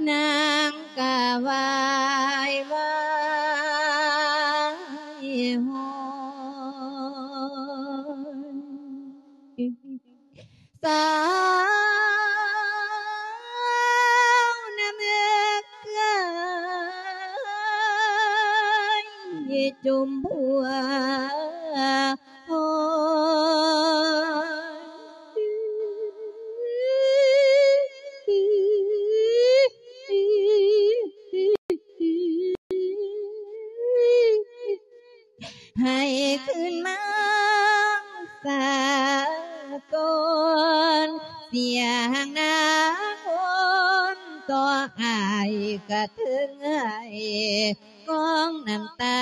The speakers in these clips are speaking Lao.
ນາງກະຫວາຍວາຍຮ້ອງ ສາວນຳເອີຍ ຈົ່ມຜົວ ໂອ້ຍ ໃຫ້ຄືນມາສາກ່ອນ ສຽງນາງໂອນຕໍ່ອ້າຍກະເທິງໄຫ້ ກອງນ້ຳຕາ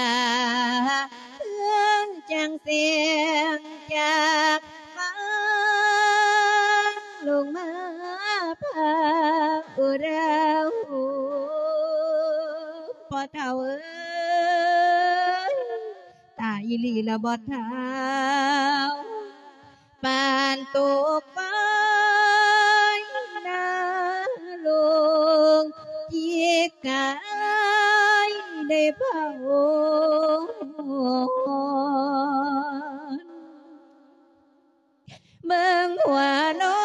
ຄືຈັ່ງສຽງຈາກຟ້າ ລົງມາພາອຸລາວ ພໍ່ເຖົ້າເອີຍ ຕາຍອີ່ຫຼີລະບໍ່ເຖົ້າ ປານຕົກໄຟນະລົງ ຈິກກາຍໄດ້ພາວອນ ເບິ່ງຫົວນອ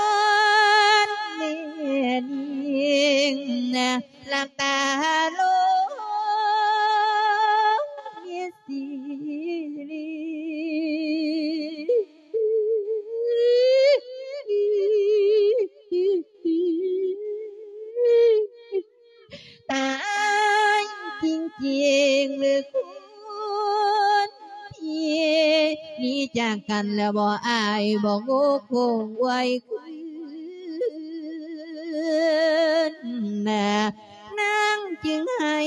ນແມ່ຍິງ ຫຼັບຕາລົງມີສີລີ ຕາຍຈິງໆ ຫຼືຄຸນພີ່ ໜີຈາກກັນແລ້ວບໍ່ ອ້າຍບໍ່ໂງຄົງໄວ້ຄືນ ນາງຈຶ່ງໄຫ້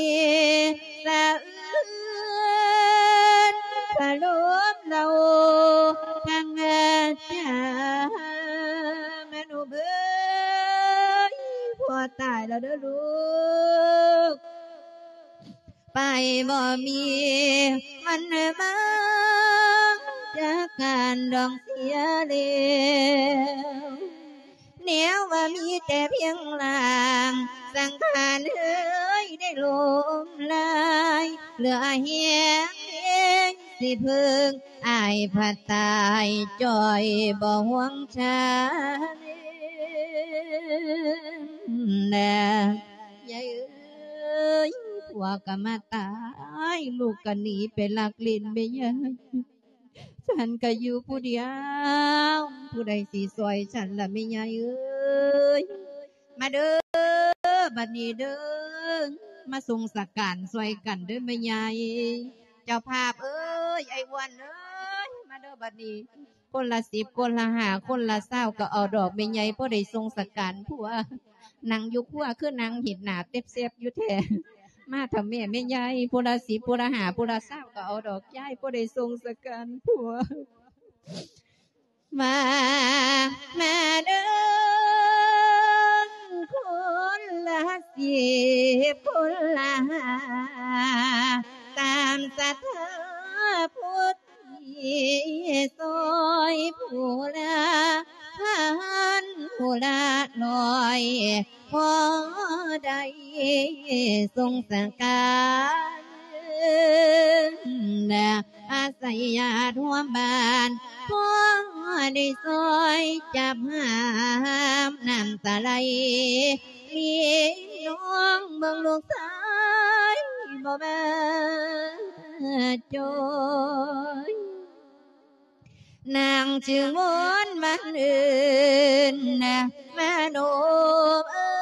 ສະເອື້ອນ ຄາລົບເລົ່າທັງອາຈານ ມະນຸເບີຍ ພໍ່ຕາຍແລ້ວເດີລູກ ໄປບໍ່ມີວັນມາຈາກກັນດອກເສຍແລ້ວ ແນວວ່າມີແຕ່ພຽງຮ່າງ ສັງຂານເອີຍໄດ້ລົ້ມລາຍ ເຫຼືອແຮງເອງຊິເພິ່ງ ອ້າຍພັດຕາຍຈ່ອຍບໍ່ຫ່ວງຊາຍ ຍາຍເອີຍ ຜົວກໍມາຕາຍ ລູກກໍໜີໄປລັກຫຼິ້ນແມ່ຍາຍ ສັນກໍຢູ່ຜູ້ດຽວ ຜູ້ໃດຊິຊ່ອຍສັນລະແມ່ຍາຍເອີຍ ມາເດີ ບັດນີ້ເດີ ມາສົ່ງສະການຊ່ອຍກັນເດີແມ່ຍາຍ ເຈົ້າພາບເອີຍ ໄອ້ອ້ວນເອີຍ ມາເດີບັດນີ້ ຄົນລະສິບ ຄົນລະຫ້າ ຄົນລະຊາວ ກໍເອົາດອກແມ່ໃຫຍ່ ພໍໄດ້ສົ່ງສະການຜົວ ນັ່ງຢູ່ຄົວຄືນັ່ງເຮັດໜ້າເຕັບແຊບຢູ່ແທ້ ມາເຖົ້າແມ່ແມ່ໃຫຍ່ ຜູ້ລະສິບ ຜູ້ລະຫ້າ ຜູ້ລະຊາວ ກໍເອົາດອກຍາຍ ພໍໄດ້ສົ່ງສະການຜົວ ມາ ມາເດີ ຄົນລະສິບ ຄົນລະຫ້າ ຕາມສັດທາຜູ້ທີ່ຊ່ອຍ ຜູ້ລະພັນ ຜູ້ລະຮ້ອຍ ພໍໄດ້ສົ່ງສະການ ອາໄສຍາດຮ່ວມບ້ານ ພໍໄດ້ຊ່ອຍຈັບຫາມ ນ້ຳຕາໄຫຼ ພີ່ນ້ອງເບິ່ງລູກຊາຍບໍ່ມາຈ່ອຍ ນາງຈຶ່ງວອນມາເອີ້ນນະ ມະໂນເອີຍ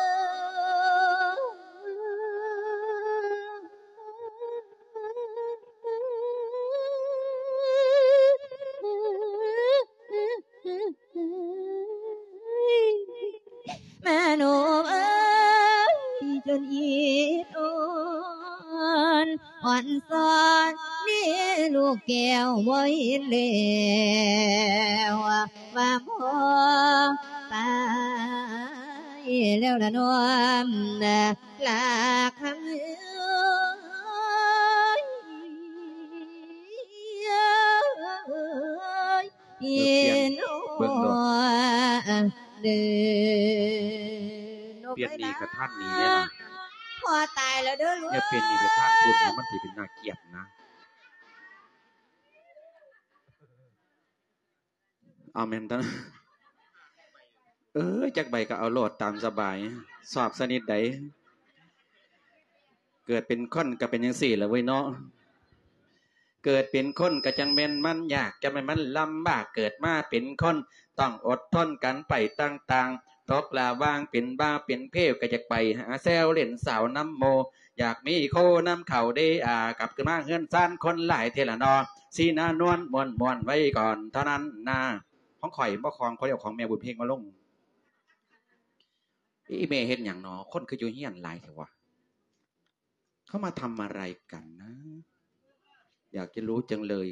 ມະໂນເອີຍ ຈົນອິດອ່ອນ ອ່ອນຊອນ ນີ້ລູກແກ້ວບໍ່ເຫັນແລ້ວ ວ່າພໍ່ຕາຍແລ້ວລະນ້ອມ ລາຄຳເອີຍ ເອີຍ ເອີຍ ເອີຍ ເອີຍ ເອີຍ ເອີຍ ເດີ ເປັນໜີ້ກະທ່ານໜີ້ແດ່ລະ ພໍ່ຕາຍແລ້ວເດີລູກ ຢ່າເປັນໜີ້ກະທ່ານພຸ້ນ ມັນຊິເປັນໜ້າກຽດນະ ເອົາແມ່ນຕາ ເອີຍ ຈັກໃບກໍເອົາໂລດຕາມສະບາຍ ຊອບຊະນິດໃດ ເກີດເປັນຄົນກໍເປັນຈັ່ງຊີ້ລະເວີຍເນາະ ເກີດເປັນຄົນກໍຈັ່ງແມ່ນມັນຍາກ ຈັ່ງແມ່ນມັນລຳບາກ ເກີດມາເປັນຄົນຕ້ອງອົດທົນກັນໄປຕ່າງໆ ຕົກລະຫວ່າງເປັນບ່າວເປັນເພວ ກໍຢາກໄປຫາແຊວຫຼິ້ນສາວນຳໝູ່ ຢາກມີຄູ່ນຳເຂົາເດອາ ກັບຄືນມາເຮືອນຊານຄົນຫຼາຍເທື່ອລະເນາະ ສີໜ້ານວນມ່ວນໆໄວ້ກ່ອນເທົ່ານັ້ນນາ ຂອງຂ້ອຍບໍ່ ຂອງຂ້ອຍເອົາຂອງແມ່ບຸນເພັງມາລົງ ອີ່ແມ່ເຮັດຫຍັງເນາະ ຄົນຄືຢູ່ເຮືອນຫຼາຍແທ້ວະ เขามาทำอะไรกันนะ อยากจะรู้จังเลย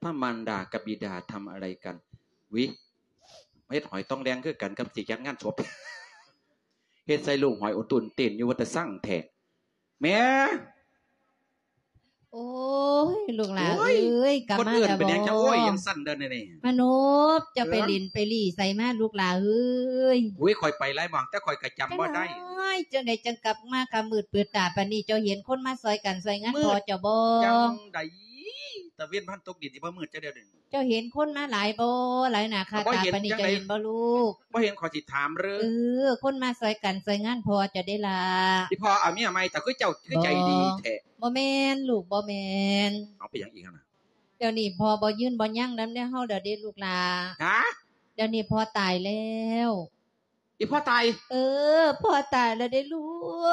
ถ้ามารดากับบิดาทำอะไรกัน วิ เฮ็ดหอยต้องแดงคือกันกับสิจัดงานศพ เฮ็ดใส่ลูกหอยอุนตุนเต้นอยู่ว่าแต่สั่งแท้ แม่ โอ้ย ลูกหลาเอ้ย กลับมาแล้วบ่ คนอื่นเป็นหยังจะโอ้ยยังสั่นเด้อนี่ มานพ เจ้าไปหลิ้นไปหลี่ใสมาลูกหลาเอ้ย โอ้ย ข้อยไปหลายหม่อง แต่ข้อยก็จำบ่ได้ จังใดจังกลับมาค่ำมืดปืดตาปานนี้ เจ้าเห็นคนมาซอยกันซอยงานพ่อเจ้าบ่ จังใด ตะเว็นพันตกดินสิบ่มืดจักเทื่อเด้ เจ้าเห็นคนมาหลายบ่ หลายหน้าค่าตาปานนี้ เจ้าเห็นบ่ลูก บ่เห็นข้อยสิถามเด้อ เออ คนมาซอยกันซอยงานพ่อเจ้าเด้ล่ะ อีพ่อเอาเมียใหม่ เจ้าคือเจ้าคือใจดีแท้ บ่แม่นลูก บ่แม่น เอาไปหยังอีกหั่นน่ะ เดี๋ยวนี้พ่อบ่ยืนบ่ยังนำแนวเฮาแล้วเด้ลูกหล่า ฮะ เดี๋ยวนี้พ่อตายแล้ว อีพ่อตาย เออ พ่อตายแล้วเด้ลู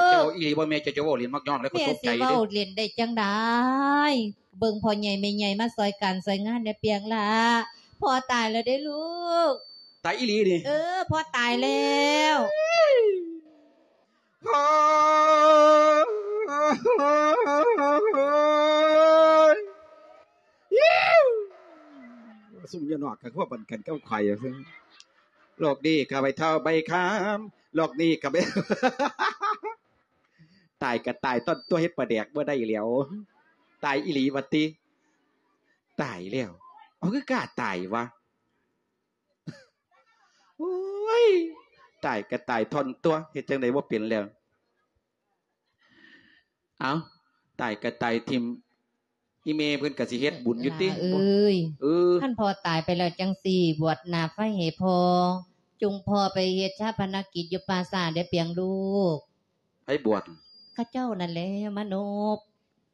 ก เจ้าอีหลีบ่แม่ เจ้าจะเว้าเล่นมักยอกแล้วก็ตกใจเด้ แม่สิเว้าเล่นได้จั่งใด เบิ่งพ่อใหญ่แม่ใหญ่มาซอยการซอยงานแหน่เปียงหล่า พ่อตายแล้วเด้ลูก ตายอีหลีนี่ เออ พ่อตายแล้ว พ่อ ยิว ซุมอยู่นอกก็คือว่าบันกันกับข่อย โลกนี้ก็ใบเฒ่าใบขาม โลกนี้ก็ใบ ตายก็ตาย ต้นตัวเฮ็ดปลาแดกบ่ได้แล้ว ตายอีหลีว่าติ ตายแล้ว เอาคือกล้าตายวะ โอ้ย ตายก็ตายท่อนตัว เฮ็ดจั่งใดบ่เป็นแล้ว เอ้า ตายก็ตายทิ่ม อีแม่เพิ่นก็สิเฮ็ดบุญอยู่ติ เอ้ย เออ คันพ่อตายไปแล้วจั่งซี้ บวชหน้าไฟให้พ่อ จุงพ่อไปเฮ็ดฌาปนกิจอยู่ป่าช้าเด้อเปียงลูก ไผบวช เขาเจ้านั่นแหละมานพ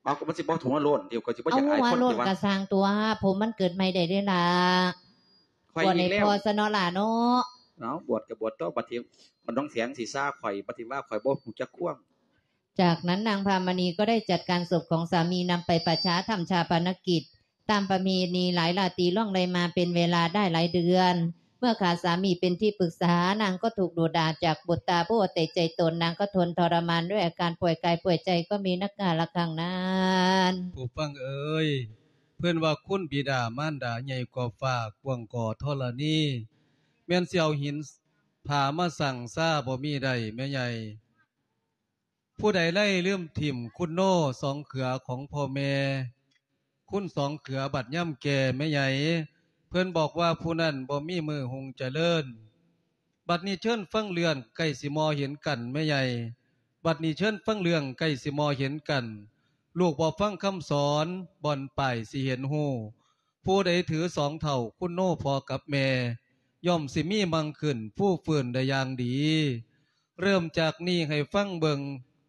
เอา ก็มันสิบ่หัวโล้น เดี๋ยวก็สิบ่อยากอายคน เอาหัวโล้น ติวะ ก็สร้างตัว ผมมันเกิดใหม่ได้เด้ล่ะ ข้อย บวชให้ อีกแล้ว พ่อซะเนาะล่ะเนาะ เอา บวชก็บวชต่อ บัดนี้มันต้องแสงสิซ่าข่อย บัดนี้ว่าข่อยบ่ฮู้จักความ จากนั้นนางพามณีก็ได้จัดการศพของสามีนำไปป่าช้าทำฌาปนกิจ ตามประเพณีหลายราตรีล่วงเลยมาเป็นเวลาได้หลายเดือน เมื่อขาดสามีเป็นที่ปรึกษา นางก็ถูกดุด่าจากบุตราผู้เอาแต่ใจตน นางก็ทนทรมานด้วยอาการป่วยกายป่วยใจก็มีนักกาละครั้งนั้น ผู้ฟังเอ๋ย เพิ่นว่าคุณบิดามารดาใหญ่กว่าฟ้ากว้างกว่าธรณี แม่นสิเอาหินผามาสั่งซาบ่มีได้แม่ใหญ่ ผู้ใดไล่ลืมถิ่มคุณโนสองเขือของพ่อแม่ คุณสองเขือบัดย่ำแก่แม่ใหญ่ เพิ่นบอกว่าผู้นั้นบ่มีมื้อหุงเจริญ บัดนี้เชิญฟังเรื่องใกล้สิมอเห็นกันแม่ใหญ่ บัดนี้เชิญฟังเรื่องใกล้สิมอเห็นกัน ลูกบ่ฟังคำสอน บ่อนปลายสิเห็นฮู้ ผู้ใดถือสองเฒ่าคุณโนพ่อกับแม่ ย่อมสิมีมั่งขึ้นฟู่ฟื้นได้อย่างดี เริ่มจากนี้ให้ฟังเบิ่ง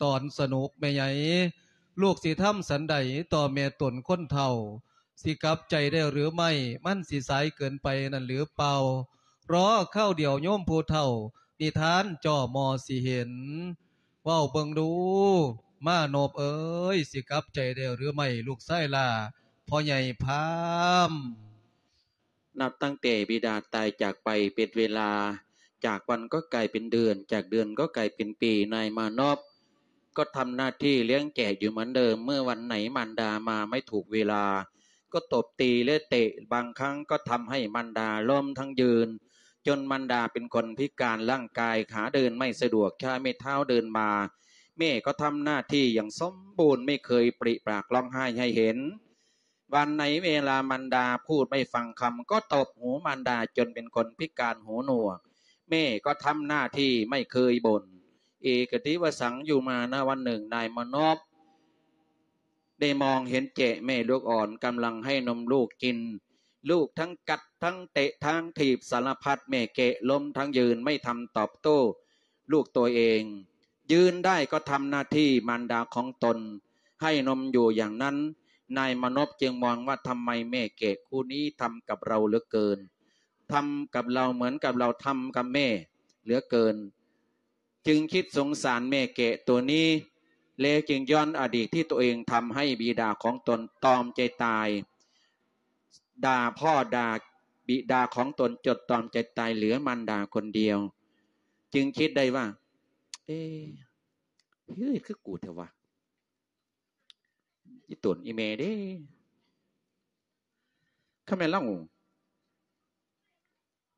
ตอนสนุกแม่ใหญ่ ลูกสิทำสันใดต่อแม่ตนคนเฒ่า สิกลับใจได้หรือไม่ มันสิสายเกินไปนั่นหรือเปล่า รอคราวเดียวโยมผู้เฒ่า นิทานจ่อมอสิเห็น เว้าเบิ่งดู มานพเอ๋ย สิกลับใจได้หรือไม่ ลูกชายหล้า พ่อใหญ่พาม นับตั้งแต่บิดาตายจากไปเป็นเวลา จากวันก็กลายเป็นเดือน จากเดือนก็กลายเป็นปี นายมานพก็ทำหน้าที่เลี้ยงแกะอยู่เหมือนเดิม เมื่อวันไหนมารดามาไม่ถูกเวลา ก็ตบตีและเตะ บางครั้งก็ทำให้มารดาล้มทั้งยืน จนมารดาเป็นคนพิการร่างกาย ขาเดินไม่สะดวก ใช้ไม้เท้าเดินมา แม่ก็ทำหน้าที่อย่างสมบูรณ์ ไม่เคยปริปากร้องไห้ให้เห็น วันไหนเวลามารดาพูดไม่ฟังคำ ก็ตบหูมารดาจนเป็นคนพิการหูหนวก ແມ່ກໍທຳໜ້າທີ່ ໄມ່ເຄີຍບ່ນ. ເອກະຕິວະສັງ ຢູ່ມານະວັນໜຶ່ງ ນາຍມານົບ ໄດ້ມອງເຫັນແຈະແມ່ລູກອ່ອນກຳລັງໃຫ້ນົມລູກກິນ. ລູກທັງກັດທັງເຕະທັງຖີບສາລະພັດ, ແມ່ແກະລົ້ມທັງຢືນ ໄມ່ທຳຕອບໂຕ້ລູກຕົວເອງ. ຢືນໄດ້ກໍທຳໜ້າທີ່ມານດາຂອງຕົນ ໃຫ້ນົມຢູ່ຢ່າງນັ້ນ. ນາຍມານົບຈຶ່ງມອງວ່າ ທຳໄມແມ່ແກະຄູ່ນີ້ທຳກັບເຮົາເຫຼືອເກີນ, ທຳກັບເຮົາເໝືອນກັບເຮົາທຳກັບແມ່ເຫຼືອເກີນ. ຈຶ່ງຄິດສົງສານແມ່ແກະຕົວນີ້ ແລະ ຈຶ່ງຍ້ອນອະດີດທີ່ຕົວເອງທຳໃຫ້ບິດາຂອງຕົນຕອມໃຈຕາຍ, ດ່າພໍ່ດ່າບິດາຂອງຕົນຈົນຕອມໃຈຕາຍເຫຼືອມານດາຄົນດຽວ. ຈຶ່ງຄິດໄດ້ວ່າ ເອ ເຮັດຄືກູແທ້ວະ ອີ່ຕົນອີ່ແມ່ເດ້. ຄັນແມ່ນລາວ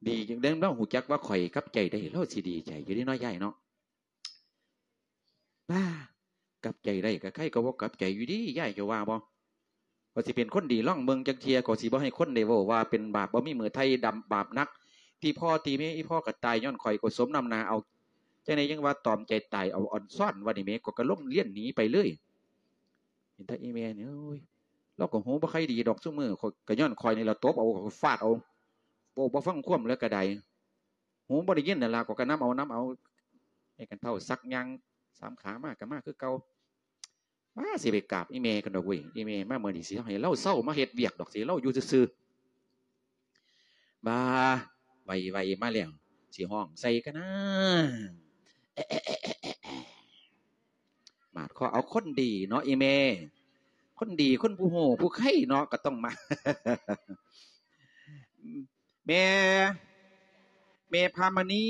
ດີຈັ່ງໃດ ລາວຮູ້ຈັກວ່າຂ້ອຍກັບໃຈໄດ້ ລາວຊິດີໃຈຢູ່ເດ້ເນາະ ຍາຍເນາະ. ບ້າ ກັບໃຈໄດ້ກໍໃຄກໍບໍ່ກັບໃຈຢູ່ເດ້ ຍາຍ ເຈົ້າວ່າບໍ່? ຂ້ອຍຊິເປັນຄົນດີລອງເບິ່ງຈັກເທື່ອ, ກໍຊິບໍ່ໃຫ້ຄົນໄດ້ເວົ້າວ່າເປັນບາບ ບໍ່ມີມື້ໄຖ່ດຳບາບໜັກ. ທີ່ພໍ່ທີ່ແມ່ ອີ່ພໍ່ກໍຕາຍຍ້ອນຂ້ອຍ ກໍສົມນ້ຳໜ້າເອົາ. ຈັ່ງໃດຍັງວ່າຕອມໃຈຕາຍ ເອົາອອນຊອນວ່ານີ້ແໝ. ຂ້ອຍກໍລົງລຽນໜີໄປເລີຍ. ເຫັນແຕ່ອີ່ແມ່ນີ້ ໂອ້ຍ ລາວກໍຫູບໍ່ຄ່ອຍດີດອກ ຊຸມື້ຂ້ອຍ ກໍຍ້ອນຂ້ອຍນີ້ລະຕົບເອົາ ຟາດເອົາ ເວົ້າບໍ່ຟັງຄວາມແລ້ວກໍໄດ້. ຫູບໍ່ໄດ້ຍິນນັ້ນລະ ຂ້ອຍກໍນຳເອົາ ນຳເອົາ. ໄອ້ຄັນເຖົ້າສັກຍ່າງສາມຂາມາກໍມາຄືເກົ່າ. ມາ ຊິໄປກາບອີ່ແມ່ກັນດອກເວີຍ. ອີ່ແມ່ມາມື້ນີ້ ຊິໃຫ້ລາວເຊົາມາເຮັດວຽກດອກ ຊິລາວຢູ່ຊື່ໆ. ບາ ໄວໆ ມາແລ້ວ ຊິຮ້ອງໃສ່ກັນນາ. ບາດຂໍເອົາຄົນດີເນາະ ອີ່ແມ່. ຄົນດີ ຄົນຜູ້ຮູ້ຜູ້ໄຄເນາະ ກໍຕ້ອງມາ. ແມ່ ແມ່ພາມະນີ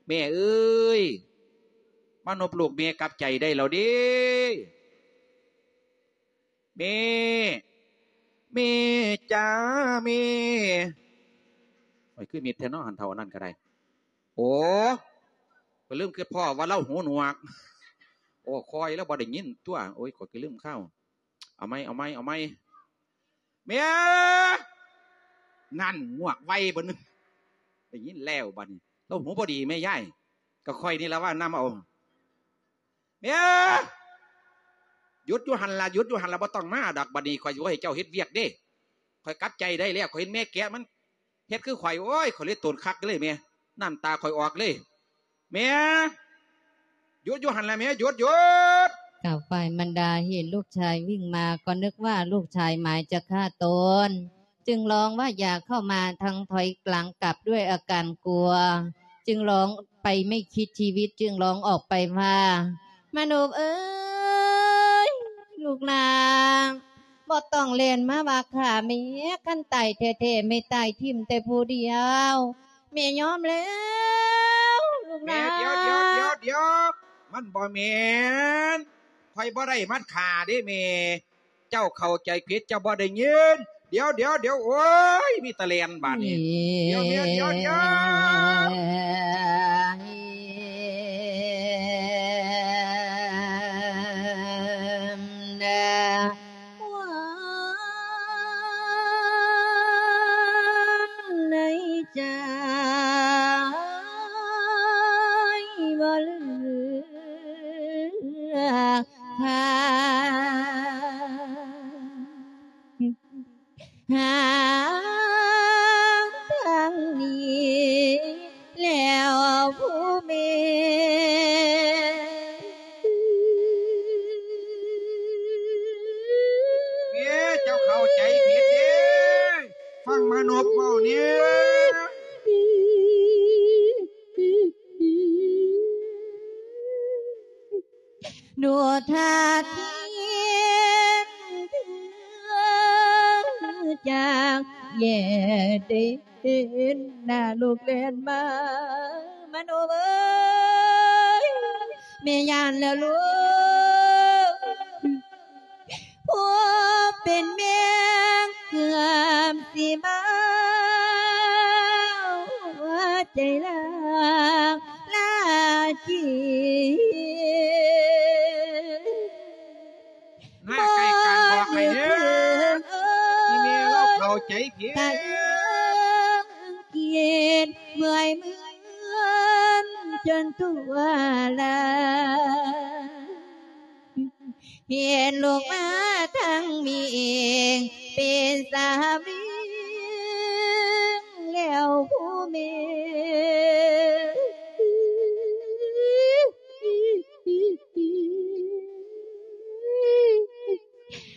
ແມ່ເອີຍ ມານົບລູກແມ່ກັບໃຈໄດ້ແລ້ວເດ້. ແມ່ ແມ່ຈ້າ ແມ່. ໂອ້ຍ ຄືມິດແທ້ເນາະ ຫັ້ນເຖົ້າອັນນັ້ນກໍໄດ້. ໂອ້ ຂ້ອຍລືມຄິດພໍ້ວ່າລາວຫູໜວກ. ໂອ້ ຂ້ອຍລະບໍ່ໄດ້ຍິນຕົວະ. ໂອ້ຍ ຂ້ອຍກໍລືມຂ່າວ. ເອົາໃໝ່ ເອົາໃໝ່ ເອົາໃໝ່. ແມ່ ນັ້ນ ງວກໄວເບິດ. ໄດ້ຍິນແລ້ວບາດນີ້ ລາວຫູບໍ່ດີແມ່ຍາຍ. ກໍຂ້ອຍນີ້ລະວ່ານຳເອົາ. ແມ່ ຢຸດຢູ່ຫັ້ນລະ ຢຸດຢູ່ຫັ້ນລະ ບໍ່ຕ້ອງມາດອກ. ບາດນີ້ຂ້ອຍຊິບໍ່ໃຫ້ເຈົ້າເຮັດວຽກເດ້. ຂ້ອຍກັບໃຈໄດ້ແລ້ວ ຂ້ອຍເຫັນແມ່ແກະມັນເຮັດຄືຂ້ອຍ. ໂອ້ຍ ຂ້ອຍເລີຍໂຕນຄັກເລີຍແມ່ ນ້ຳຕາຂ້ອຍອອກເລີຍ. ແມ່ ຢຸດຢູ່ຫັ້ນລະແມ່ ຢຸດ ຢຸດ. ກະຝ່າຍມານດາເຫັນລູກຊາຍວິ່ງມາ ກໍນຶກວ່າລູກຊາຍໝາຍຈະຂ້າຕົນ. ຈຶ່ງຮ້ອງວ່າຢ່າເຂົ້າມາ ທັງຖອຍຫຼັງກັບດ້ວຍອາການກົວ. ຈຶ່ງຮ້ອງໄປໄມ່ຄິດຊີວິດ ຈຶ່ງຮ້ອງອອກໄປວ່າ ມານົບເອີຍ ລູກຫຼ້າ ບໍ່ຕ້ອງແລ່ນມາວ່າຂ້າແມ່. ຄັນຕາຍແທ້ໆ ແມ່ຕາຍຖິ້ມແຕ່ຜູ້ດຽວ ແມ່ຍອມແລ້ວ ລູກຫຼ້າ. ແມ່ ດຽວ ດຽວ ດຽວ ດຽວ ມັນບໍ່ແມ່ນ. ຂ້ອຍບໍ່ໄດ້ມາຂ້າເດ້ແມ່. ເຈົ້າເຂົ້າໃຈຜິດ ເຈົ້າບໍ່ໄດ້ຍິນ. ດຽວ ດຽວ ດຽວ ໂອ້ຍ ມີແຕ່ແລ່ນບາດນີ້. ດຽວ ດຽວ ດຽວ ດຽວ. ໃນໃຈບໍ່ເຫຼືອ ຫາທາງໜີແລ້ວຜູ້ແມ່. ເອີ ເຈົ້າເຂົ້າໃຈຜິດເດ້ ຟັງມານົບເວົ້າແດ່. ດູທ່າທີຈາກແຍກເດີນ ໜ້າລູກແລ່ນມາ ມາໂນເອີຍ ແມ່ຢ້ານແລ້ວລູກ. ຜູ້ເປັນແມ່ເກືອບຊິເມົາ ໃຈລາລາຈີ ໜ້າໃກ້ການບອກໃຫ້ເດີ ອີແມ່ລາວເຂົ້າໃຈຜິດ ກະເອີງກຽດເມື່ອຍ ຈົນທົ່ວລາ ເຫັນລູກມາທັງແມ່ເປັນສາມີແລ້ວຜູ້ແມ່.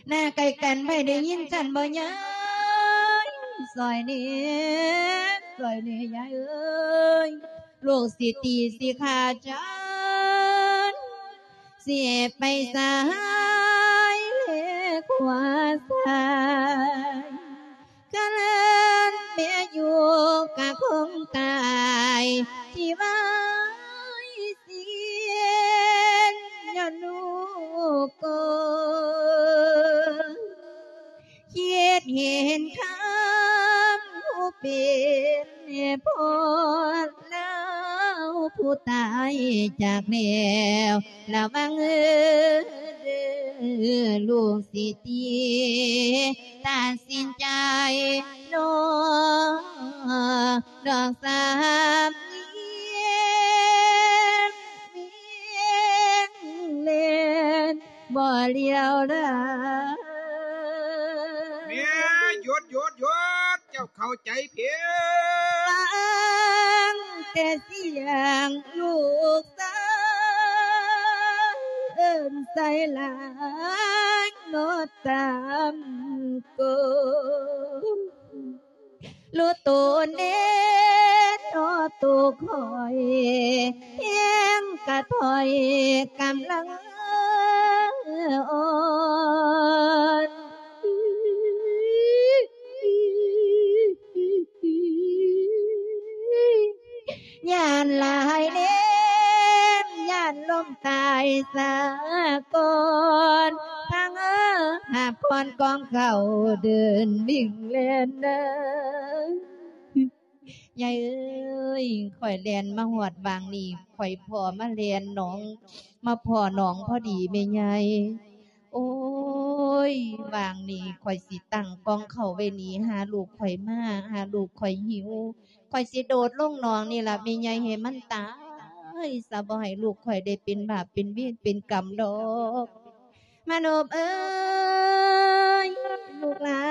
ໜ້າໃກ້ກັນໃຜໄດ້ຍິນສັນບໍ່ຍາຍ? ຊ່ອຍແດ່ ຊ່ອຍແດ່ຍາຍເອີຍ ລູກຊິຕີຊິຂ້າຈານ ຊິໄປຊ້າຍແລຂວາຊ້າຍ ຄັນແມ່ຢູ່ກະຄົງຕາຍທີ່ວາຍຊຽນ ຍ້ອນລູກກໍຄິດເຫັນຄຳຜູ້ເປັນພໍ່ລາວ ຜູ້ຕາຍຈາກແລ້ວ ລະວັງເດີ ລູກຊິຕິ ຕັດສິນໃຈນ້ອງ ດອກສາມເນນ ເນນ ບໍ່ລ້ຽວລາ. ແມ່ ຢຸດ ຢຸດ ຢຸດ ເຈົ້າເຂົ້າໃຈຜິດ. ຟັງແຕ່ສຽງລູກສາວ ເອີ້ນໃສ່ຫຼາຍເນາະຕາມກົນ ຮູ້ໂຕແນ່ເນາະໂຕຂ້ອຍ ແຮງກະຖອຍກຳລັງອ່ອນ. ຢ້ານຫຼາຍແນມ ຢ້ານລົ້ມຕາຍສາກ່ອນ ພັງເອີ ຫາບຄອນກອງເຂົ້າເດີນວິ່ງແລ່ນນາ. ຍາຍເອີຍ ຂ້ອຍແລ່ນມາຮອດຫວ່າງນີ້ ຂ້ອຍພໍ້ມາແລ່ນໜອງ ມາພໍ້ໜອງພໍດີແມ່ຍາຍ. ໂອ້ຍ ຫວ່າງນີ້ຂ້ອຍຊິຕັ້ງກ່ອງເຂົ້າໄວ້ນີ້ ຫາລູກຂ້ອຍມາ ຫາລູກຂ້ອຍຫິວ ຂ້ອຍຊິໂດດລົງໜອງນີ້ລະແມ່ຍາຍ ໃຫ້ມັນຕາຍຊະ ບໍ່ໃຫ້ລູກຂ້ອຍໄດ້ເປັນບາບເປັນເວນເປັນກຳດອກ. ມະນົບເອີຍ ລູກຫຼາ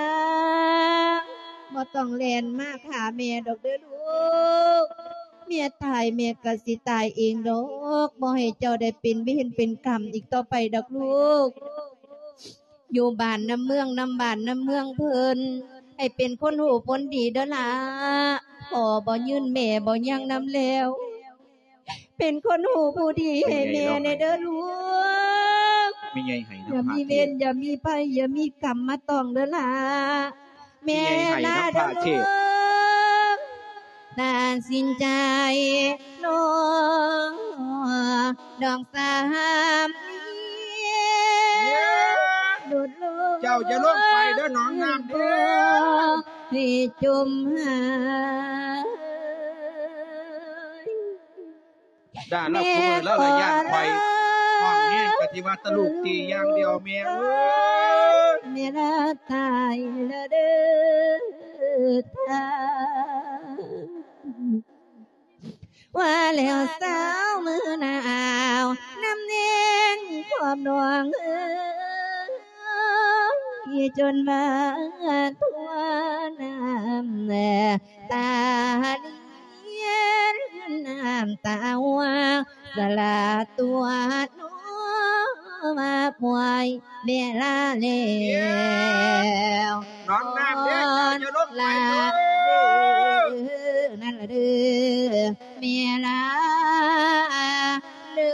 ນ ບໍ່ຕ້ອງແລ່ນມາຫາແມ່ດອກເດີລູກ ແມ່ຕາຍແມ່ກະຊິຕາຍເອງດອກ ບໍ່ໃຫ້ເຈົ້າໄດ້ເປັນເວນເປັນກຳອີກຕໍ່ໄປດອກລູກ. ຢູ່ບ້ານນຳເມືອງ ນຳບ້ານນຳເມືອງເພິ່ນ ໃຫ້ເປັນຄົນຮູ້ຜົນດີເດີຫຼ້າ ພໍ່ບໍ່ຍືນແມ່ບໍ່ຍັງນຳແລ້ວ ເປັນຄົນຮູ້ຜູ້ດີໃຫ້ແມ່ແດ່ເດີລູກ. ແມ່ໃຫຍ່ໃຫ້ນຳພະເທດ ຢ່າມີເວນຢ່າມີໄພຢ່າມີກຳມາຕ້ອງເດີຫຼ້າ ແມ່ລາເດີລູກ. ຕັດສິນໃຈນ້ອງ ດອກສາມເນນ ໂດດລົງ ເຈົ້າຢ່າລົງໄປເດີໜອງນ້ຳເດີ ໃຫ້ຈົມຫາຍ. ດ່າລາວ ແມ່ ຄືມື້ລາວລະຢ້ານຂ້ອຍ ຮ້ອງແຮງກະຊິວ່າຕະລູກຕີຢ່າງດຽວ ແມ່ເອີຍ ແມ່ລາຕາຍລະເດີທ່ານ. ວ່າແລ້ວສາວມືໜາວ ນຳແນງຂອບໜອງເອີຍ ຈົນວ່າທົ່ວນ້ຳຕາລຽນ ນ້ຳຕາຮ່ວງ ສະຫຼາຕົວນ້ອງມາປ່ວຍ ເວລາແລ້ວ ນ້ອງນ້ຳເດ້ ເຈົ້າຢ່າລົງໄປເດີ ນັ້ນລະເດີ ເວລາເດີ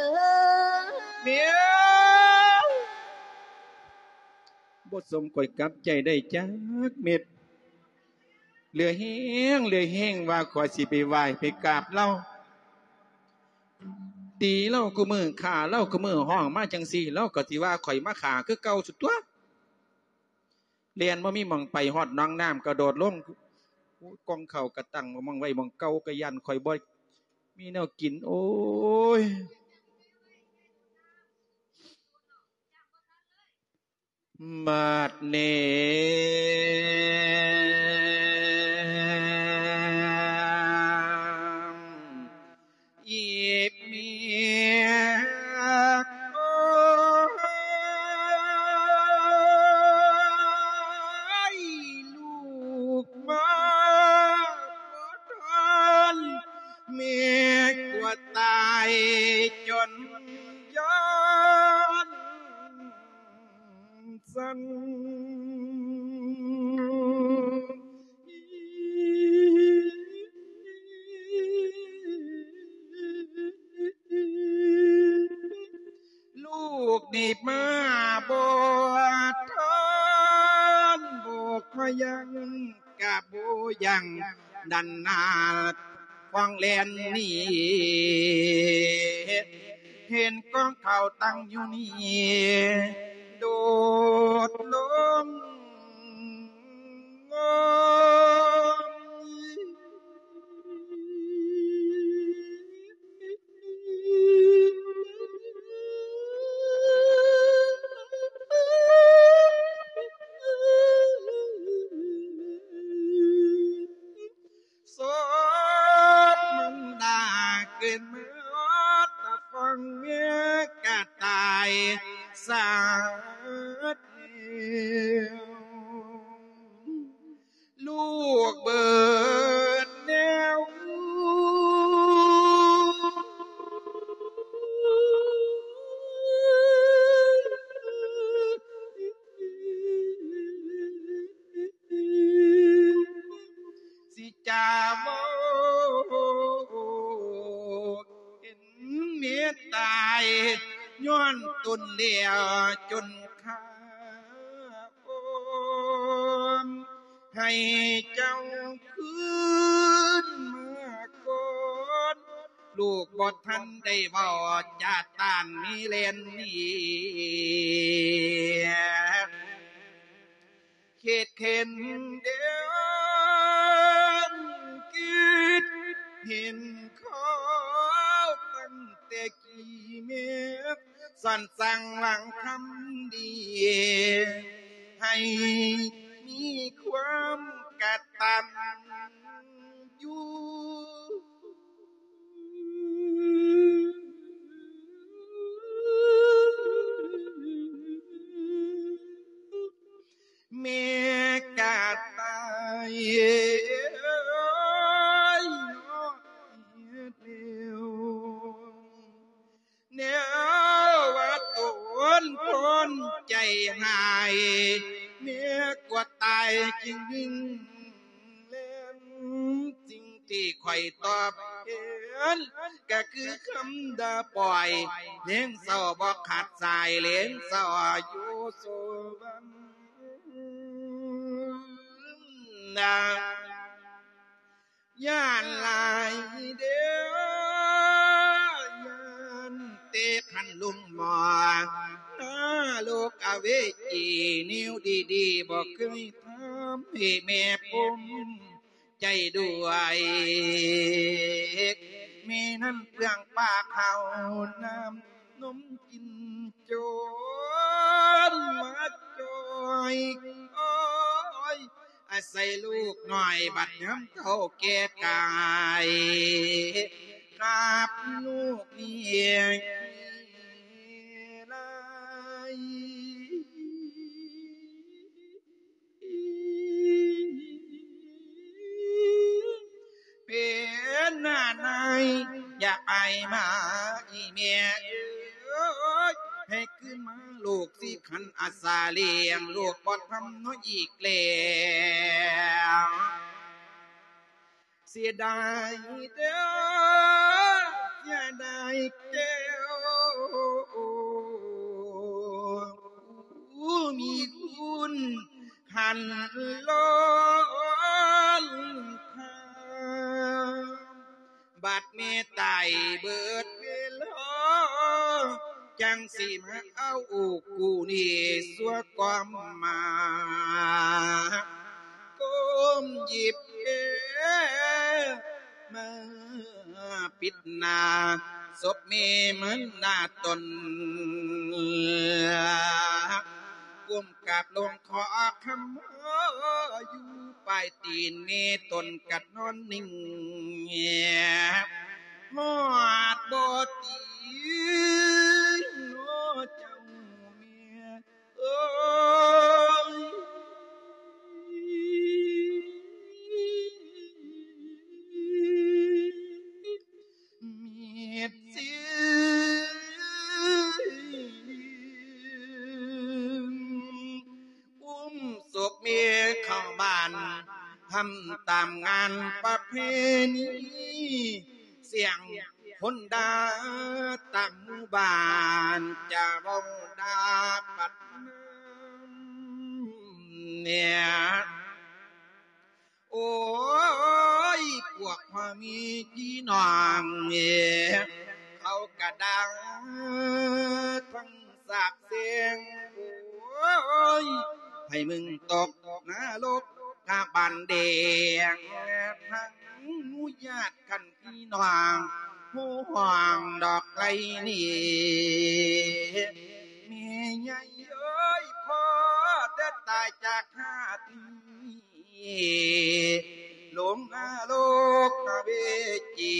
ແມ່ ບໍ່ສົມຂ້ອຍກັບໃຈໄດ້ຈັກເມັດ ເຫຼືອແຮງ ເຫຼືອແຮງວ່າຂ້ອຍຊິໄປໄຫວ້ໄປກາບລາວ ຕີລາວຄູ່ມື້ ຂ້າລາວຄູ່ມື້ ຮ້ອງມາຈັ່ງຊີ້ ລາວກໍຊິວ່າຂ້ອຍມາຂ້າຄືເກົ່າສຸດຕົວະ. ແລ່ນບໍ່ມີໝ່ອງໄປ ຮອດໜອງນ້ຳກະໂດດລົງ ໂອ້ຍ ກ່ອງເຂົ້າກະຕັ້ງໝ່ອງໄວ້ໝ່ອງເກົ່າ ກະຢ້ານຂ້ອຍບໍ່ມີແນວກິນ ໂອ້ຍ. ບາດນີ້ ອີ ຕາຍຈົນຍ້ອນສັນ ລູກນີ້ມາບໍ່ທັນ ບໍ່ຄ່ອຍຍັງ ກະບໍ່ຍັງ ດັນໜ້າຂວາງແລ່ນໜີ ເຫັນກອງເຂົ້າຕັ້ງຢູ່ນີ້ ໂດດລົງງອມ. ສົບມັນດາເກີດມາຮອດຕາຝັ່ງ ກະຕາຍສາດແລ້ວ ລູກເບີດແນວ ຊິຈະເວົ້າເຫັນແມ່ຕາຍຍ້ອນຕົນແລ້ວຈົນຂ້າ ໃຫ້ເຈົ້າຄືນມາກ່ອນ ລູກບໍ່ທັນໄດ້ເວົ້າຈາຕານມີແລ່ນໜີ ຄິດເຫັນເດີນ ຄິດເຫັນຂໍຕັ້ງແຕ່ ທີ່ແມ່ສອນສັ່ງຫວັງຄຳດີ ໃຫ້ມີຄວາມກະຕັນຢູ່ ແມ່ກະຕາຍເອີຍ ເນາະ ເຮັດແລ້ວ ແນວວ່າຕົນຄົນໃຈຮ້າຍ ແມ່ກວ່າຕາຍຈຶ່ງວິ່ງແລ່ນ ສິ່ງທີ່ຂ້ອຍຕອບແທນ ກະຄືຄຳດ່າປ້ອຍ ແລງເສົ້າບໍ່ຂາດສາຍ ແລງເສົ້າຢູ່ສະຫວັນນາ ຢ້ານຫຼາຍເດີ ຢ້ານແຕ່ຄັນລຸງໝໍ ນະໂລກອະເວຈີ ແນວດີໆບໍ່ເຄີຍທຳ ໃຫ້ແມ່ພູມໃຈດ້ວຍ ແມ່ນັ້ນເປືອງປາກເຂົ້ານ້ຳ ນົມກິນຈົນມາຈ່ອຍ ໂອ້ຍ ອາໄສລູກນ້ອຍ ບັດຍາມເຖົ້າແກ່ກາຍ ຂາບລູກລ້ຽງຫຼາຍ. ເປັນໜ້ານາຍ ຢ່າໄປມາອີແມ່ເອີຍ ໃຫ້ຄືນມາລູກຊິຂັນອາສາລ້ຽງ ລູກບໍ່ທຳນ້ອຍອີກແລ້ວ ເສຍດາຍເດີ ເສຍດາຍແກ້ວ ຜູ້ມີຄຸນ ຫັນລ້ອນທາງ ບາດແມ່ຕາຍເບີດເວລາ ຈັ່ງຊິມາເອົາກູນີ້ຊົ່ວຄວາມມາ ກົ້ມຫຍິບແກ້ມາປິດໜ້າ ສົບແມ່ມັນໜ້າຕົນ ກົ້ມກາບລົງ ຂໍຄຳມາຢູ່ປາຍຕີນແມ່ຕົນກະນອນນິ່ງ ຮອດບໍ່ຕີນ ໂອ້ ເຈົ້າແມ່ເອີຍ. ທຳຕາມງານປະເພນີ ສຽງຄົນດ່າຕາມໝູ່ບ້ານ ຈະເວົ້າດ່າປັດນຳເນຍ. ໂອ້ຍ ພວກພໍ່ແມ່ພີ່ນ້ອງເອີ ເຂົາກະດ່າທັງສາບແຊ່ງ ໂອ້ຍ ໃຫ້ມຶງຕົກນະລົກກະບານແດງ ທັງໝູ່ຍາດກັນພີ່ນ້ອງ ຜູ້ຫ້ອງດອກໄກ່ນີ້ ແມ່ໃຫຍ່ເອີຍ ພໍແຕ່ຕາຍຈາກຊາດນີ້ ລົງນະລົກເວຈີ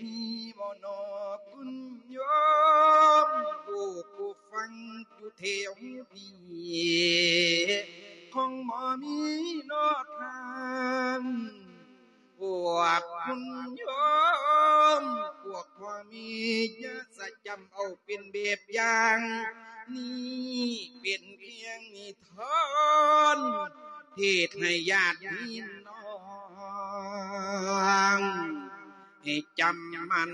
ມີບໍ່ນໍຄຸນໂຍມ ຜູ້ຜູ້ຟັງຢູ່ແຖວນີ້ ຄົງບໍ່ມີນໍທ່ານ ພວກຄຸນໂຍມ ພວກພໍ່ແມ່ ຢ່າສະຈຳເອົາເປັນແບບຢ່າງ ນີ້ເປັນພຽງນິທານ ເທດໃຫ້ຍາດພີ່ນ້ອງ ໃຫ້ຈຳໝັ້ນ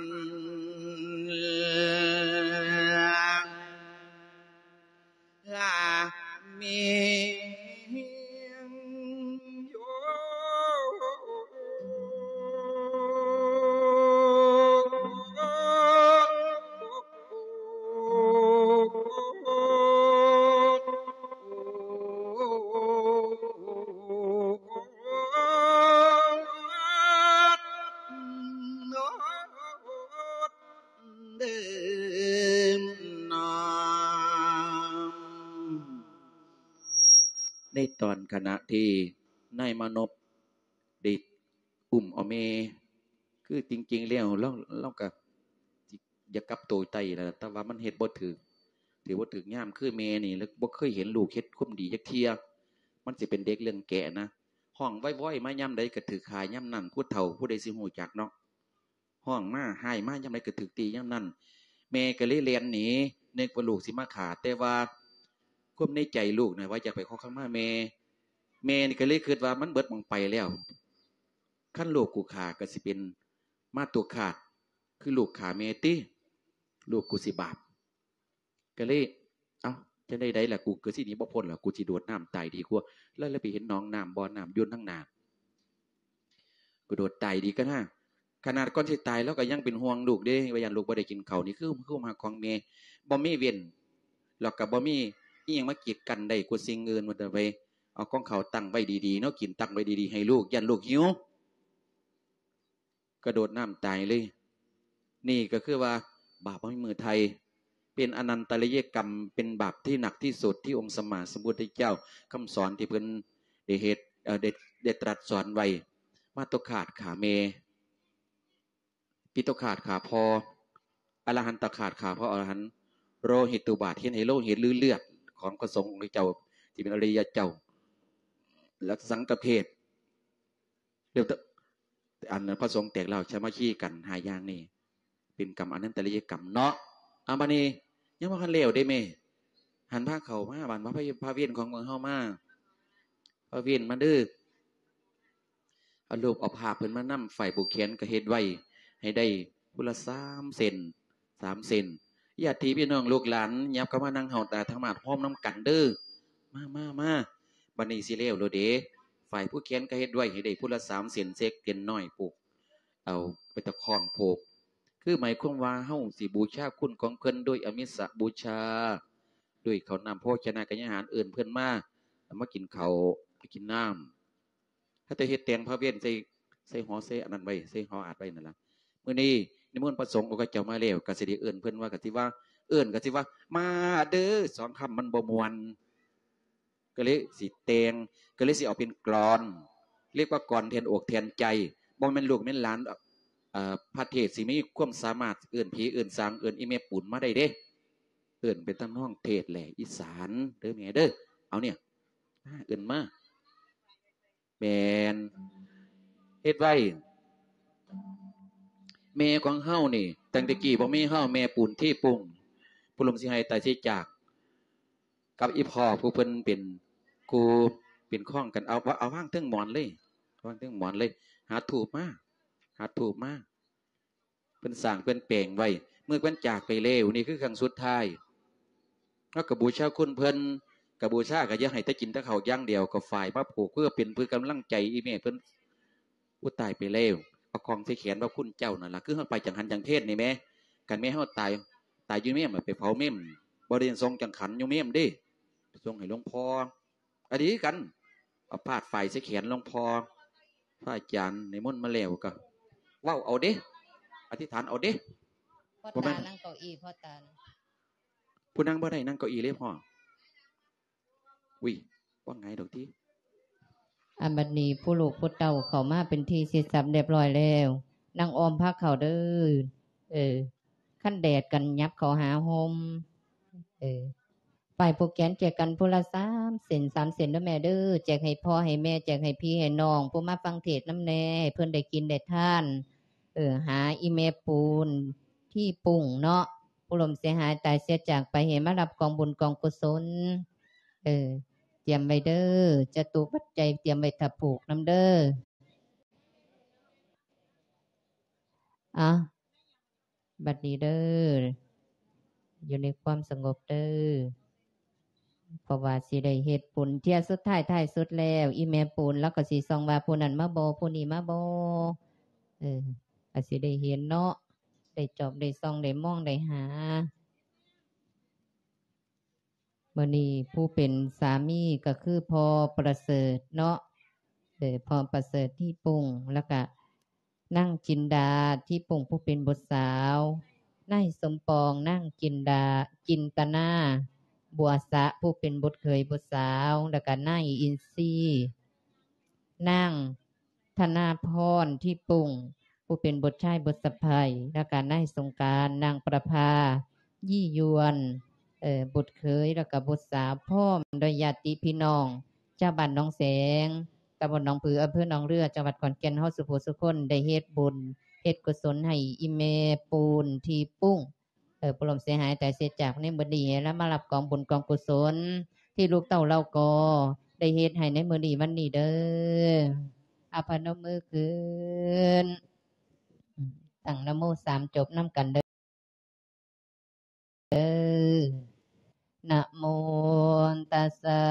ລາເມງໂຍ. ເດີນນາມ ໃນຕອນຂະນະທີ່ນາຍມານົບໄດ້ອຸ້ມເອົາແມ່ ຄືຈິງໆແລ້ວລາວ ລາວກະຢາກກັບໂຕໄປແຫຼະ ແຕ່ວ່າມັນເຮັດບໍ່ຖືກ ຖືບໍ່ຖືກຍາມ ຄືແມ່ນີ້ ແລ້ວບໍ່ເຄີຍເຫັນລູກເຮັດຄວາມດີຈັກເທື່ອ ມັນຊິເປັນເດັກເລື່ອງແກະນະ ຮ້ອງວອຍໆມາຍາມໃດກະຖືກຂ້າຍາມນັ້ນ ຜູ້ເຖົ້າຜູ້ໃດຊິຮູ້ຈັກເນາະ. ຮ້ອງມາ ຮ້າຍມາຍາມໃດກໍຖືກຕີຍາມນັ້ນ ແມ່ກໍເລີຍແລ່ນໜີ ນຶກວ່າລູກຊິມາຂ້າ ແຕ່ວ່າຄວາມໃນໃຈລູກນະວ່າຢາກໄປຂໍຂະມາແມ່ ແມ່ນີ້ກໍເລີຍຄິດວ່າມັນເບິດໝ່ອງໄປແລ້ວ ຄັນລູກກູຂ້າກໍຊິເປັນມາຕຸຄາດ ຄືລູກຂ້າແມ່ຕິ ລູກກູຊິບາບ. ກໍເລີຍ ເອົ້າ ຈັ່ງໃດໃດລະ ກູກໍຊິໜີບໍ່ພົ້ນລະ ກູຊິໂດດນ້ຳຕາຍດີກວ່າ ແລ້ວ ແລ້ວໄປເຫັນໜອງນ້ຳ ບໍ່ນ້ຳຢູ່ທາງໜ້າ ກະໂດດຕາຍດີກວ່ານາ. ຂະໜາດກ່ອນຊິຕາຍລາວກໍຍັງເປັນຫ່ວງລູກເດ້ ວ່າຢ້ານລູກບໍ່ໄດ້ກິນເຂົ້າ ນີ້ຄື ຄືຄວາມຮັກຂອງແມ່ ບໍ່ມີເວັ້ນ ແລ້ວກໍບໍ່ມີອີ່ຫຍັງມາກີດກັ້ນໄດ້ກວ່າສິ່ງອື່ນ ວ່າແຕ່ໄປເອົາກອງເຂົ້າຕັ້ງໄວ້ດີໆເນາະ ກິນຕັ້ງໄວ້ດີໆໃຫ້ລູກ ຢ້ານລູກຫິວ. ກະໂດດນ້ຳຕາຍເລີຍ. ນີ້ກໍຄືວ່າບາບບໍ່ມີມື້ໄຖ່ ເປັນອະນັນຕະລິຍະກຳ ເປັນບາບທີ່ໜັກທີ່ສຸດ ທີ່ອົງສຳມາສຳພຸດທະເຈົ້າຄຳສອນທີ່ເພິ່ນໄດ້ເຮັດ ເອີ ໄດ້ ໄດ້ຕລັດສອນໄວ້ ມາຕຸຄາດຂ້າແມ່ ປິຕຸຄາດຂ້າພໍ່ ອະລະຫັນຕະຄາດຂ້າພະອໍລະຫັນ ໂລຫິດຕຸບາດ ເຮັດໃຫ້ໂລຫິດ ຫຼື ເລືອດຂອງພະສົງຂອງເຈົ້າ ທີ່ເປັນອະລິຍະເຈົ້າ ແລະ ສັງກະເພດ ແລ້ວ ອັນພະສົງແຕກລາວສາມັກຄີກັນຫ້າຢ່າງນີ້ ເປັນກຳອະນັນຕະລິຍະກຳເນາະ. ອາ ບາດນີ້ຍັງບໍ່ທັນແລ້ວເດ້ແມ່ ຫັນພາເຂົ້າມາ ບາດວ່າພະ ພະເວນຂອງພວກເຮົາມາ ພະເວນມາເດີ ເອົາຮູບເອົາພາບເພິ່ນມານຳ ຝ້າຍຜູກແຂນກໍເຮັດໄວ້ໃຫ້ໄດ້ຜູ້ລະສາມເສັ້ນ ສາມເສັ້ນ ຍາດຕິພີ່ນ້ອງລູກຫຼານ ຫຍັບເຂົ້າມານັ່ງເຮົາຕາທາງມາດ ໂຮມນຳກັນເດີ ມາ ມາ ມາ. ບາດນີ້ຊິແລ້ວແລ້ວເດ້ ຝ້າຍຜູກແຂນກໍເຮັດໄວ້ໃຫ້ໄດ້ຜູ້ລະສາມເສັ້ນ ເຊັກເສັ້ນນ້ອຍ ຜູກເອົາໄປຕະຄ້ອງຜູກ ຄືໝາຍຄວາມວ່າເຮົາຊິບູຊາຄຸນຂອງເພິ່ນໂດຍອາມິສະບູຊາ ໂດຍເຂົ້ານ້ຳໂພຊະນະກະຍາຫານ ເອີ້ນເພິ່ນມາ ມາກິນເຂົ້າ ມາກິນນ້ຳ. ເຮົາຈະເຮັດແຕ່ງພະເວນໃສ່ ໃສ່ຫໍ ໃສ່ອັນນັ້ນໄວ້ ໃສ່ຫໍອາດໄວ້ນັ້ນລະ. ມື້ນີ້ນິມົນພະສົງອົງຄະເຈົ້າມາແລ້ວ ກະຊິໄດ້ເອີ້ນເພິ່ນວ່າ ກະຊິວ່າ ເອີ້ນກະຊິວ່າ ມາເດີ ສອງຄຳມັນບໍ່ມ່ວນ ກໍເລີຍຊິແຕ່ງ ກໍເລີຍຊິເອົາເປັນກລອນ ເອີ້ນວ່າກອນແທນອົກແທນໃຈ ບໍ່ແມ່ນລູກແມ່ນຫຼານ ເອີ ພະເທດຊິມີຄວາມສາມາດເອີ້ນຜີເອີ້ນສາງ ເອີ້ນອີ່ແມ່ປູນມາໄດ້ເດ້ ເອີ້ນເປັນທຳນອງເທດແຫຼະອີສານເດີແມ່ເດີ ເອົາເນຍ ເອີ້ນມາ. ແມ່ນ ເຮັດໄວ້ ແມ່ຂອງເຮົານີ້ ຕັ້ງແຕ່ກີ້ບໍ່ມີເຮົາ ແມ່ປູນທີ່ປຸງ ຜູ້ລົມຊິໃຫ້ຕາຍຊິຈາກ ກັບອີ່ພໍ່ຜູ້ເພິ່ນເປັນຄູ ປັນຂອງກັນ ເອົາ ເອົາວາງເທິງໝອນເລີຍ ວາງເທິງໝອນເລີຍ ຫາທູບມາ ຫາທູບມາ ເພິ່ນສ້າງເພິ່ນແປງໄວ້ ເມື່ອເພິ່ນຈາກໄປແລ້ວ ນີ້ຄືຄັ້ງສຸດທ້າຍ ເຮົາກໍບູຊາຄຸນເພິ່ນ ກໍບູຊາ ກໍຢ່າໃຫ້ແຕ່ກິນແຕ່ເຂົ້າຢ່າງດຽວ ກໍຝາຍມາຜູກ ເພື່ອເປັນ ເພື່ອກຳລັງໃຈອີ່ແມ່ເພິ່ນ ຜູ້ຕາຍໄປແລ້ວ ເອົາຂອງໃສ່ແຂນວ່າຄຸນເຈົ້ານັ້ນລະ ຄືເຮົາໄປຈັງຫັນຈັງເພດນີ້ແໝ່ ຄັນແມ່ເຮົາຕາຍ ຕາຍຢູ່ເມມ ໄປເຜົາເມມ ບໍ່ໄດ້ສົ່ງຈັງຂັນຢູ່ເມມເດ້ ສົ່ງໃຫ້ຫຼວງພໍ່ ອັນນີ້ຄືກັນ ເອົາພາດຝາຍໃສ່ແຂນຫຼວງພໍ່ ພະອາຈານນິມົນມາແລ້ວກໍເວົ້າເອົາເດ້ ອະທິຖານເອົາເດ້ ພໍ່ຕານັ່ງເກົ້າอี้ ພໍ່ຕາ ຜູ້ນັ່ງບໍ່ໄດ້ ນັ່ງເກົ້າอี้ເລີຍພໍ່. ອຸ້ຍ ບໍ່ຫງາຍດອກຕິ. ອັນບັດນີ້ຜູ້ລູກຜູ້ເຕົ້າເຂົ້າມາເປັນທີ່ເສັດສັບລຽບຮ້ອຍແລ້ວ ນັ່ງອ້ອມພາເຂົ້າເດີ້. ເອີ ຄັນແດດກໍຫຍັບເຂົ້າຫາຮົ່ມ. ເອີ ຝາຍຜູກແຂນແຈກກັນຜູ້ລະສາມເສັ້ນ ສາມເສັ້ນເດີ້ແມ່ເດີ້ ແຈກໃຫ້ພໍ່ໃຫ້ແມ່ ແຈກໃຫ້ພີ່ໃຫ້ນ້ອງ ຜູ້ມາຟັງເທດນຳແດ່ ໃຫ້ເພິ່ນໄດ້ກິນໄດ້ທານ. ເອີ ຫາອີ່ແມ່ປູນ ທີ່ປຸ້ງເນາະ ຜູ້ລົ້ມເສຍຫາຍຕາຍເສຍຈາກໄປ ໃຫ້ມາຮັບກອງບຸນກອງກຸສົນ. ເອີ ຕຽມໄວ້ເດີ້ ຈະຕຸປັດໄຈຕຽມໄວ້ຖ້າຜູກນຳເດີ້. ອາ ບັດນີ້ເດີ້ ຢູ່ໃນຄວາມສະຫງົບເດີ້ ເພາະວ່າຊິໄດ້ເຮັດບຸນເທື່ອສຸດທ້າຍ ທ້າຍສຸດແລ້ວ ອີ່ແມ່ປູນລາວກໍຊິສ່ອງວ່າ ຜູ້ນັ້ນມາບໍ່ ຜູ້ນີ້ມາບໍ່. ເອີ ກໍຊິໄດ້ເຫັນເນາະ ໄດ້ຈອບໄດ້ສ່ອງ ໄດ້ມອງໄດ້ຫາ. ມື້ນີ້ຜູ້ເປັນສາມີກໍຄືພໍ່ປະເສີດເນາະ ເອີ ພໍ່ປະເສີດທີ່ປຸ້ງ ແລ້ວກະນາງຈິນດາທີ່ປຸ້ງ ຜູ້ເປັນບຸດສາວ, ນາຍສົມປອງ ນາງຈິນດາ ຈິນຕະນາ ບົວສະ ຜູ້ເປັນບຸດເຂີຍບຸດສາວ ແລ້ວກະນາຍອິນຊີ ນາງ ທະນາພອນ ທີ່ປຸ້ງ ຜູ້ເປັນບຸດຊາຍບຸດສະໃພ້ ແລ້ວກະນາຍສົງການ ນາງປະພາ ຢີ່ຢວນ ເອີ ບຸດເຂີຍ ແລ້ວກະບຸດສາວ ພ້ອມດ້ວຍຍາດຕິພີ່ນ້ອງ ຊາວບ້ານໜອງແສງ ຕຳບົນໜອງຜື ອຳເພີໜອງເຮືອ ຈັງຫວັດຂອນແກ່ນ ເຮົາສູ່ຜູ້ສູ່ຄົນໄດ້ເຮັດບຸນເຮັດກຸສົນໃຫ້ອີ່ແມ່ປູນທີ່ປຸ້ງ ເອີ ຜູ້ລົ້ມເສຍຫາຍຕາຍເສຍຈາກໃນມື້ນີ້ ແລ້ວມາຮັບກອງບຸນກອງກຸສົນ ທີ່ລູກເຕົ້າເຫຼົ່າກໍໄດ້ເຮັດໃຫ້ໃນມື້ນີ້ວັນນີ້ເດີ້. ອາ ພະນົມມືຂຶ້ນ ຕັ້ງນະໂມສາມຈົບນຳກັນເດີ້. ນະໂມຕັດສະ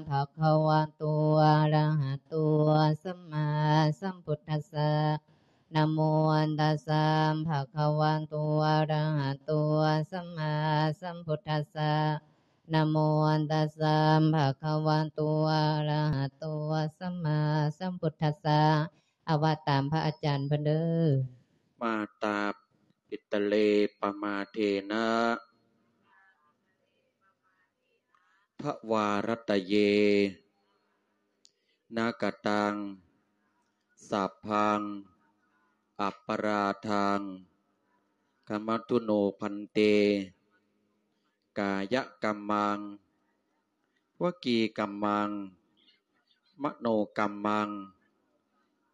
ພະຄະວະໂຕ ອະລະຫະໂຕ ສຳມາສຳພຸດທັດສະ. ນະໂມຕັດສະ ພະຄະວະໂຕ ອະລະຫະໂຕ ສຳມາສຳພຸດທັດສະ. ນະໂມຕັດສະ ພະຄະວະໂຕ ອະລະຫະໂຕ ສຳມາສຳພຸດທັດສະ. ອາ ວ່າຕາມພະອາຈານເພິ່ນເດີ້. ມາຕາ ປິຕະເລ ປະມາເທນະ ທະວາຣັດຕະເຍ ນະກະຕັງ ສັບພັງ ອັບປະລາທັງ ຂະມະຕຸໂນ ພັນເຕ. ກາຍະກຳມັງ ວະຈີກຳມັງ ມະໂນກຳມັງ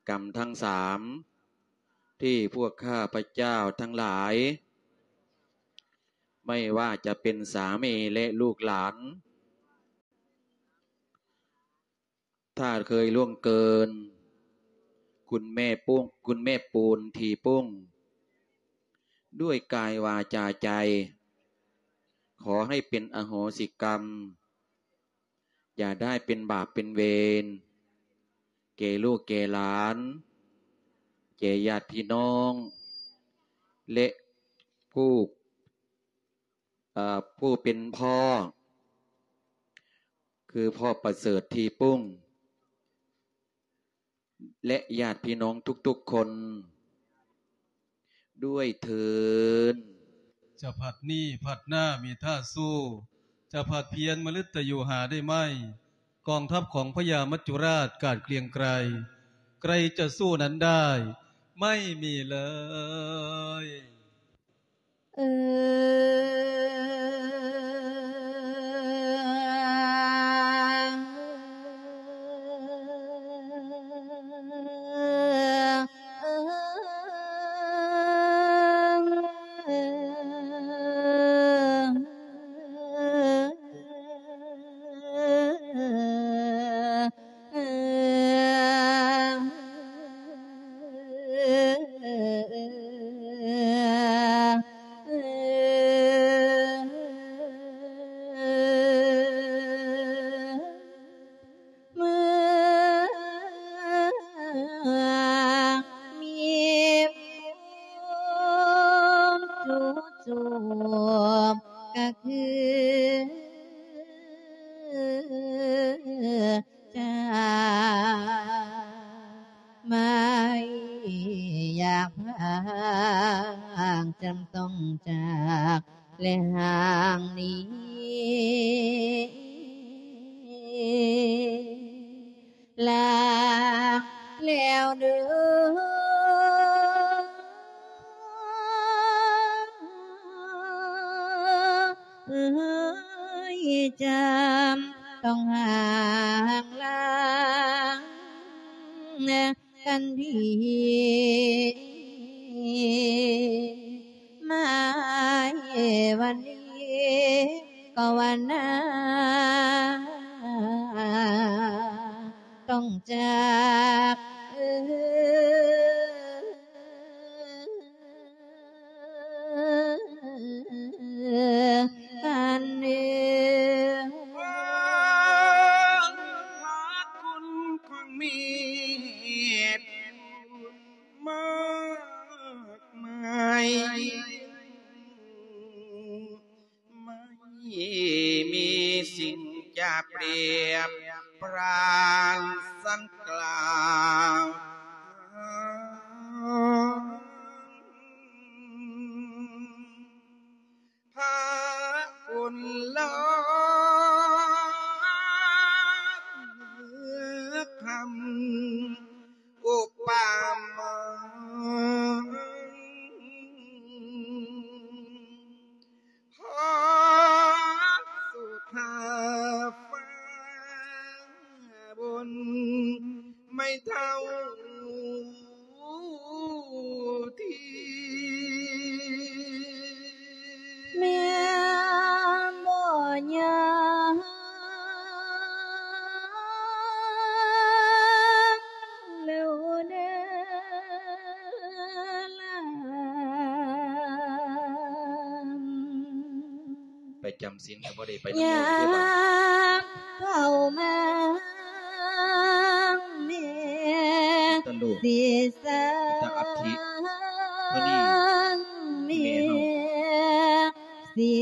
ກຳທັງສາມ ທີ່ພວກຂ້າພະເຈົ້າທັງຫຼາຍ ໄມ່ວ່າຈະເປັນສາມີ ແລະ ລູກຫຼານ ຖ້າເຄີຍລ່ວງເກີນ ຄຸນແມ່ປູນ ຄຸນແມ່ປູນທີ່ປຸ້ງ ດ້ວຍກາຍ ວາຈາ ໃຈ ຂໍໃຫ້ເປັນອະໂຫສິກຳ ຢ່າໄດ້ເປັນບາບເປັນເວນ ແກ່ລູກແກ່ຫຼານ ແກ່ຍາດພີ່ນ້ອງ ແລະ ຜູ້ ເອີ ຜູ້ເປັນພໍ່ ຄືພໍ່ປະເສີດທີ່ປຸ້ງ ແລະ ຍາດພີ່ນ້ອງທຸກໆຄົນດ້ວຍເທີ້ນ. ຈະພັດນີ້ພັດໜ້າມີທ່າສູ້ ຈະພັດພຽນມະລຶດຕະໂຍຫາໄດ້ໄໝ? ກອງທັບຂອງພະຍາມັດຈຸລາດກາດເກຣງໄກ ໃຄຈະສູ້ນັ້ນໄດ້ ໄມ່ມີເລີຍ. ຄືຈາກ ໄມ່ຢາກພາກ ຈຳຕ້ອງຈາກ ແລະຫ່າງໜີ ລາແລ້ວເດີ ເອີຍ ຈຳຕ້ອງຫ່າງລາກັນພີ້ ມາເອວັນນີ້ກໍວ່ານາ ຕ້ອງຈາກກັນເດີ ຂອບຄຸນຂອງເມດ ມາກມາຍ ໄມ່ມີສິ່ງຈະປຽບປານສັນກາວ ພາຝົນລອກ ເມືອຄຳ ອຸປະມາ ຮອດສຸດຟ້າບົນ ໄມ້ເຖົ້າທີ່ ແມ່ນບໍ່ຍາມແລ້ວເດີລາ ໄປຈຳ ສິນກໍບໍ່ໄດ້ໄປນຳໝູ່ເດ້ບາດນີ້ ຍາມເຂົ້າມາແມ່ ຕະໂລກ ຊິສ້າງ ຕະອັດທິ ເທົ່ານີ້ ແມ່ເຮົາ ຊິ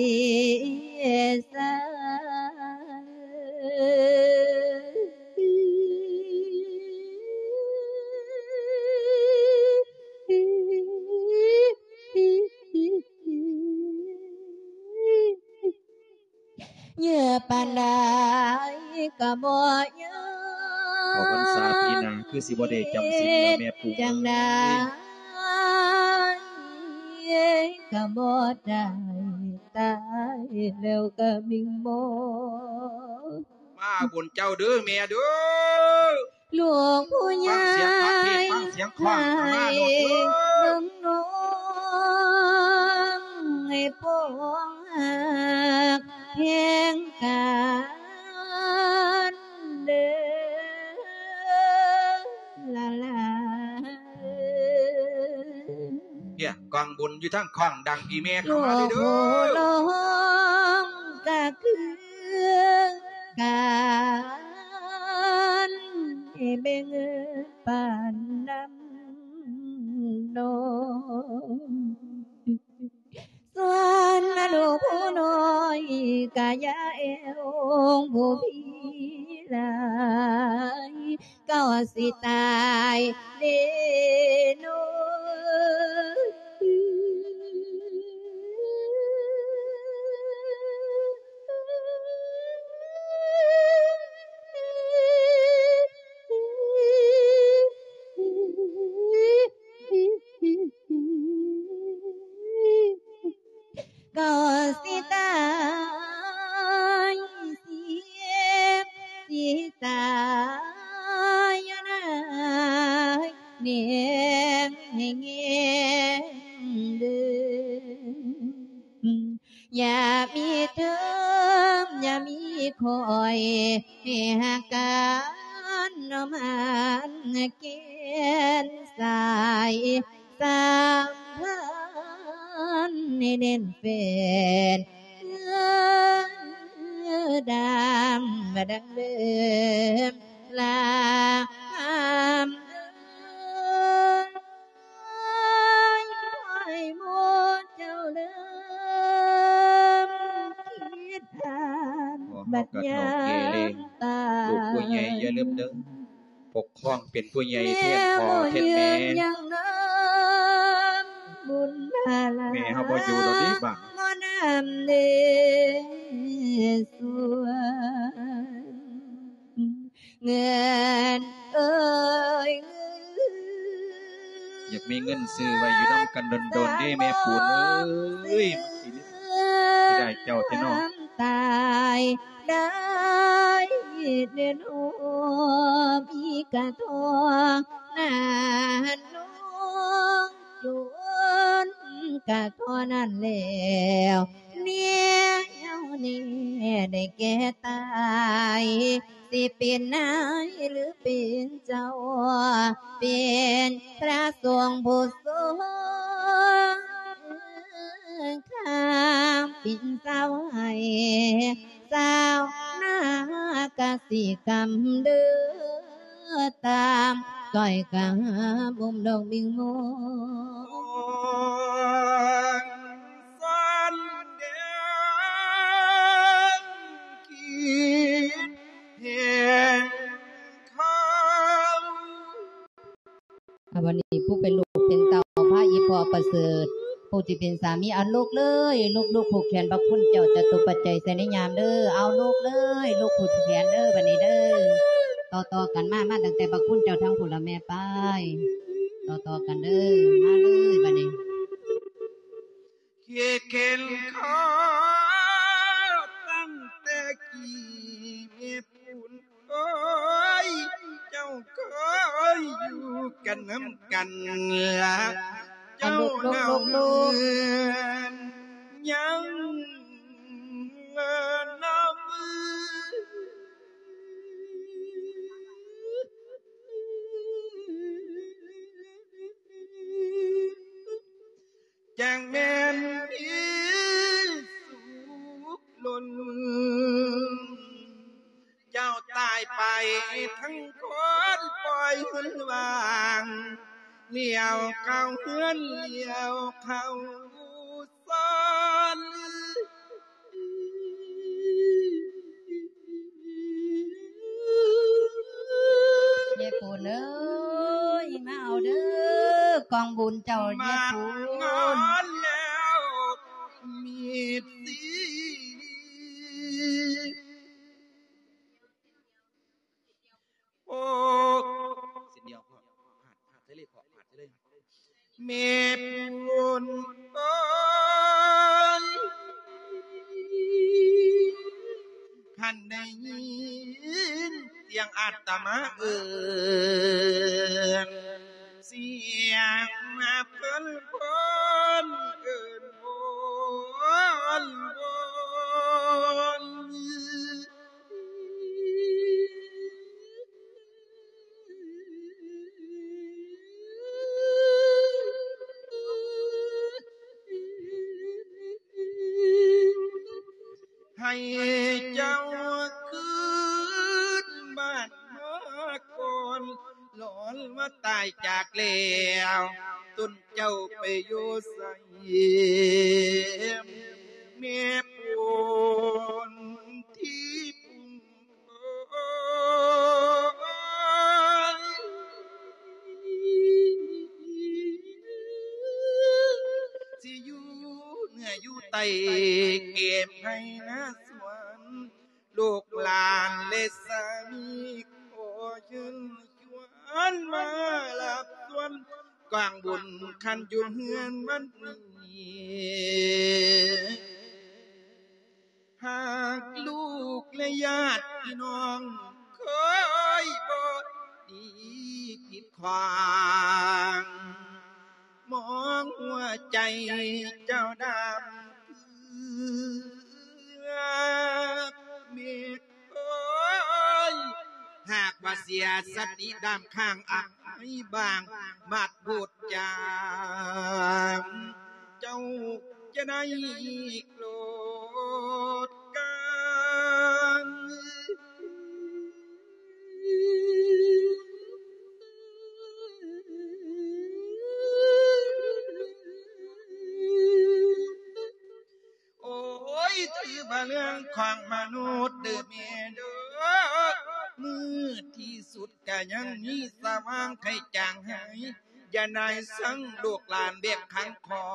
ສ້າງ ເຍອະປານໃດກໍບໍ່ຍອມ ເຂົ້າພັນສາປີໜ້າຄືຊິບໍ່ໄດ້ຈຳສິນແລ້ວແມ່ປູເອີຍ ຈັ່ງໃດກໍບໍ່ໄດ້ຕາຍແລ້ວກໍມິ່ງມອງ ມາບຸນເຈົ້າເດີແມ່ເດີ. ລູກຜູ້ໃຫຍ່ ຟັງສຽງພະເທດ ຟັງສຽງຄ້ອງເຈົ້ານາໂນດເດີ ນ້ອງໆ ໃຫ້ປ້ອງຮັກແພງກັນເດີລາ ລາ ເພຍ ກ້ອງບຸນຢູ່ທາງຄ້ອງ ດັງອີ່ແມ່ເຂົ້າມາເດີ ລູກຜູ້ນ້ອງກະຄືກັນ ເບິ່ງປານນ້ຳນ້ອງ ສ່ວນລູກຜູ້ນ້ອຍກະຢ່າແອວຜູ້ພີຫຼາຍ ເຂົາຊິຕາຍເດໂນ. ເຂົາຊິຕາຍເສຍ ຊິຕາຍຢູ່ໃນແນງໃຫ້ແງງເດີ ຢ່າມີເທີມ ຢ່າມີຂ້ອຍ ໃຫ້ຫາກກັນນ້ອມຫາແກ່ນສາຍ ສຳພັນໃຫ້ແໜ້ນແຟ້ນ ດຳມາດັງເດີມ ລາຄຳເອີຍ ໃຫ້ໝູ່ເຈົ້າເລີມ ບັດຍາມຕາຍ ເຮົາກໍເຖົ້າແກ່ແລ້ວ ລູກຜູ້ໃຫຍ່ຢ່າລືມເດີ ປົກຄອງເປັນຜູ້ໃຫຍ່ແທນພໍ່ແທນແມ່ ແນວຢືນຍັງນຳບຸນພາລາ ແມ່ເຮົາບໍ່ຢູ່ແລ້ວເດ້ບາດນີ້ ຂໍນຳເດຊວນ ເງິນເອີຍ ຢາກມີເງິນຊື້ໄວ້ຢູ່ນຳກັນດົນໆເດ້ແມ່ປູນເອີຍ ມັນຊິເສຍດາຍເຈົ້າແທ້ເນາະ ຕາຍໄດ້ເດືອນຫົວ ມີກະທອງນານອງ ຈົນກະເທົ່ານັ້ນແລ້ວ ແນວນີ້ໄດ້ແກ່ຕາຍ ຊິເປັນນາຍຫຼືເປັນເຈົ້າ ເປັນພະສົງຜູ້ຊົງຄາມ ເປັນຊາວໄຮ່ຊາວນາກະສິກຳເດີ ຕາມກ້ອຍກາບຸ້ມດອກບິງໂມ ສອນແດງ ຄິດແຫ່ງເຂົາ ອ່າ ບັດນີ້ຜູ້ເປັນລູກເປັນເຕົ້າ ພາອີ່ພໍ່ປະເສີດ ຜູ້ທີ່ເປັນສາມີ ເອົາລູກເລີຍ ລູກໆ ຜູກແຂນພະຄຸນເຈົ້າຈະຕຸປັດໄຈໃສ່ໃນຍາມເດີ ເອົາລູກເລີຍ ລູກຜູກແຂນເດີ ບັດນີ້ເດີ ຕໍ່ໆກັນມາ ມາຕັ້ງແຕ່ພະຄຸນເຈົ້າທາງພຸ້ນລະແມ່ ໄປ ຕໍ່ໆກັນເດີ ມາເລີຍບັດນີ້. ຄິດເຫັນເຂົາຕັ້ງແຕ່ກີ້ແມ່ປູນເອີຍ ເຈົ້າເຄີຍຢູ່ກັນນຳກັນ ເຈົ້າເຫງົາເໝືອນຍັງນຳ ຈັ່ງແມ່ນມີສຸກລົ້ນ ເຈົ້າຕາຍໄປທັງຄົນປ່ອຍເຮືອນວ່າງ ລ້ຽວເຂົ້າເຮືອນລ້ຽວເຂົ້າຊານ. ຍາຍປູນເອີຍ ມາເອົາເດີ ກອງບຸນເຈົ້າ ຍາຍປູນ ມາງອນແລ້ວມີບສີ ໂອ້ ເສັ້ນດຽວ ພາດ ພາດໃສ່ເລີຍ ພາດໃສ່ເລີຍ. ແມ່ປູນເອີຍ ຄັນໄດ້ຍິນສຽງອາດຕະມາເອີ້ນ ສຽງມາເພິ່ນພົນ ເອີ້ນວອນວອນ ໃຫ້ເຈົ້າຄືນບ້ານມາກ່ອນ ຫຼອນວ່າຕາຍຈາກແລ້ວ ຕົນເຈົ້າໄປຢູ່ໃສ ແມ່ປູນທີ່ປຸງ ໂອ້ຍ ຊິຢູ່ເໜືອຢູ່ໃຕ້ ເກັບໄຮ່ນາສວນ ລູກຫຼານ ແລະ ສາມີ ຂໍເຊີນຊວນມາຮັບສ່ວນກອງບຸນ ຄັນຢູ່ເຮືອນວັດນີ້. ຫາກລູກ ແລະ ຍາດພີ່ນ້ອງ ເຄີຍບໍ່ດີຜິດຂວາງ ມອງຫົວໃຈເຈົ້າດຳເກືອກ ເມກເອີຍ ຫາກວ່າເສຍສະຕິດຳຄ້າງ ອາຍບາງ ບາດໂພດຈາງ ເຈົ້າຈະໄດ້ໂກດກາງ. ໂອ້ຍ ວ່າເລື່ອງຂອງມະນຸດເດີແມ່ເດີ ມືດທີ່ສຸດກະຍັງມີສະຫວ່າງໄຂຈາງຫາຍ ຢ່ານາຍສັງລູກຫຼານເບກຂັງຂອ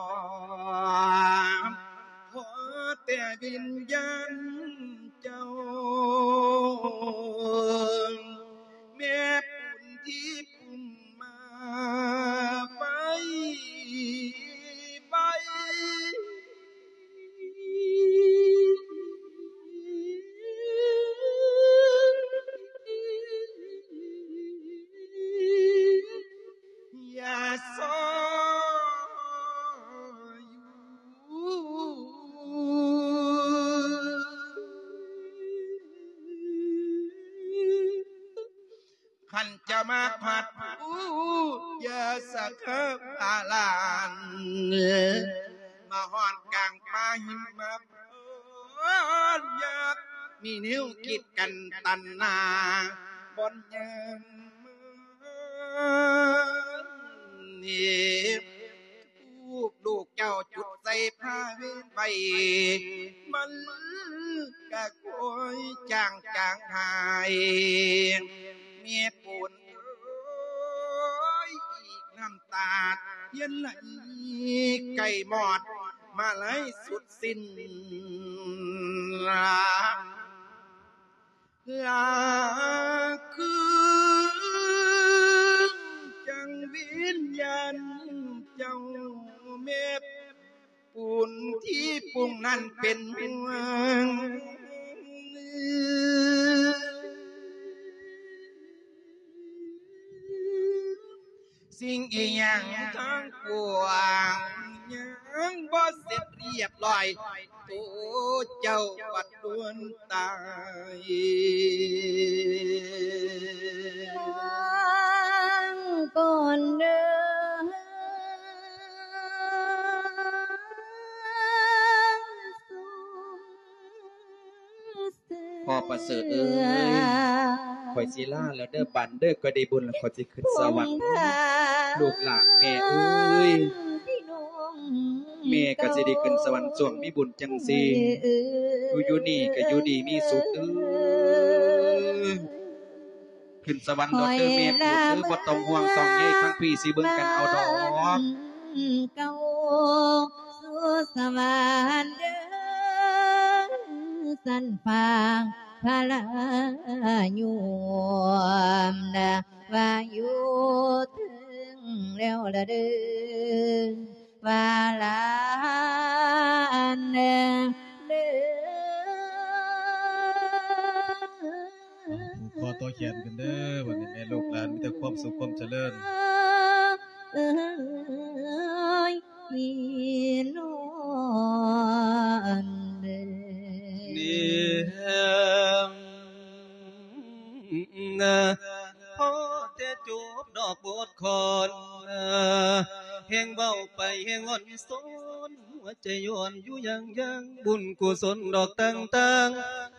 ງ ຂໍແຕ່ວິນຍານເຈົ້າ ແມ່ປຸນທີ່ປຸງມາໄວ ໄວ ຢ່າຊອຍຢູ່ ຄັນຈະມາພັດຜູ້ ຢ່າສະເຄີບອາລານ ມາຮອດກາງປ່າຫິມະ ຍາກມີແນວຄິດກັນຕັນໜາ ບ່ອນຍາມມານີ້ ທູບລູກເຈົ້າຈຸດໃສ່ຜ້າເວນໄວ້ ມັນກະຄ່ອຍຈາງຈາງຫາຍ ແມ່ປູນເອີຍ ອີກນ້ຳຕາທຽນໄຫຼ ໃກ້ມອດມາໄລສຸດສິ້ນ ລາຄືນຈັ່ງວິນຍານເຈົ້າ ແມ່ປູນທີ່ປຸງນັ້ນເປັນຫ່ວງ ສິ່ງອີ່ຫຍັງທັງປວງ ຍັງບໍ່ເສັດຮຽບຮ້ອຍ ໂຕເຈົ້າບັດດ່ວນຕາຍ ລາກ່ອນເດີ ພໍ່ປະເສີດເອີຍ ຂ້ອຍຊິລາແລ້ວເດີ ບາດເດີ ຂ້ອຍໄດ້ບຸນແລ້ວ ຂ້ອຍຊິຂຶ້ນສະຫວັນ ລູກຫຼານແມ່ເອີຍ ແມ່ກໍຊິໄດ້ຂຶ້ນສະຫວັນ ຊ່ວງມີບຸນຈັ່ງຊີ້ ຢູ່ ຢູ່ນີ້ກໍຢູ່ດີມີສຸກເອີຍ ຂຶ້ນສະຫວັນໂລດເດີແມ່ປູດເອີຍ ບໍ່ຕ້ອງຫ່ວງຕ້ອງໃຍ ທາງພີ່ຊິເບິ່ງກັນເອົາດອກ ເຈົ້າສູ່ສະຫວັນເດີ ສັນຟາງພະລາຍົມນະ ວ່າຢູ່ເທິງແລ້ວລະເດີ ວ່າຫຼານເດີ ຜູກຄໍຕໍ່ແຂນກັນເດີ ບັດນີ້ແມ່ລູກຫຼານມີແຕ່ຄວາມສຸກຄວາມຈະເລີນ ເອີຍ ພີ່ນ້ອງເອີຍ ນີ້ ພໍແຕ່ຈົບດອກບົດຄອນ ແຮ່ງເວົ້າໄປແຮ່ງອ່ອນຊອນ ຫົວໃຈຍ້ອນຢູ່ຢ່າງຢ່າງ ບຸນກຸສົນດອກຕ່າງ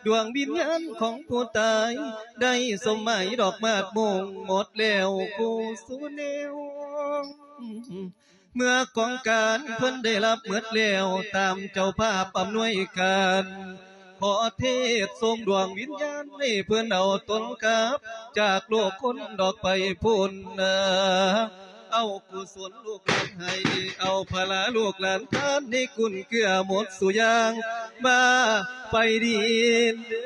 ໆ ດວງວິນຍານຂອງຜູ້ຕາຍ ໄດ້ສົມໝາຍດອກໝາກມົງ ໝົດແລ້ວຄູ່ສູ່ແນວ ເມື່ອກອງການເພິ່ນໄດ້ຮັບໝົດແລ້ວ ຕາມເຈົ້າພາບອຳນວຍການ ຂໍເທດສົ່ງດວງວິນຍານໃຫ້ເພິ່ນເອົາຕົນກັບ ຈາກໂລກຄົນດອກໄປພຸ້ນນາ ເອົາກຸສົນລູກຫຼານໃຫ້ ເອົາພະລາລູກຫຼານທານ ໃຫ້ກຸນເກື້ອໝົດສູ່ຢ່າງ ມາ ໄປດີເດີ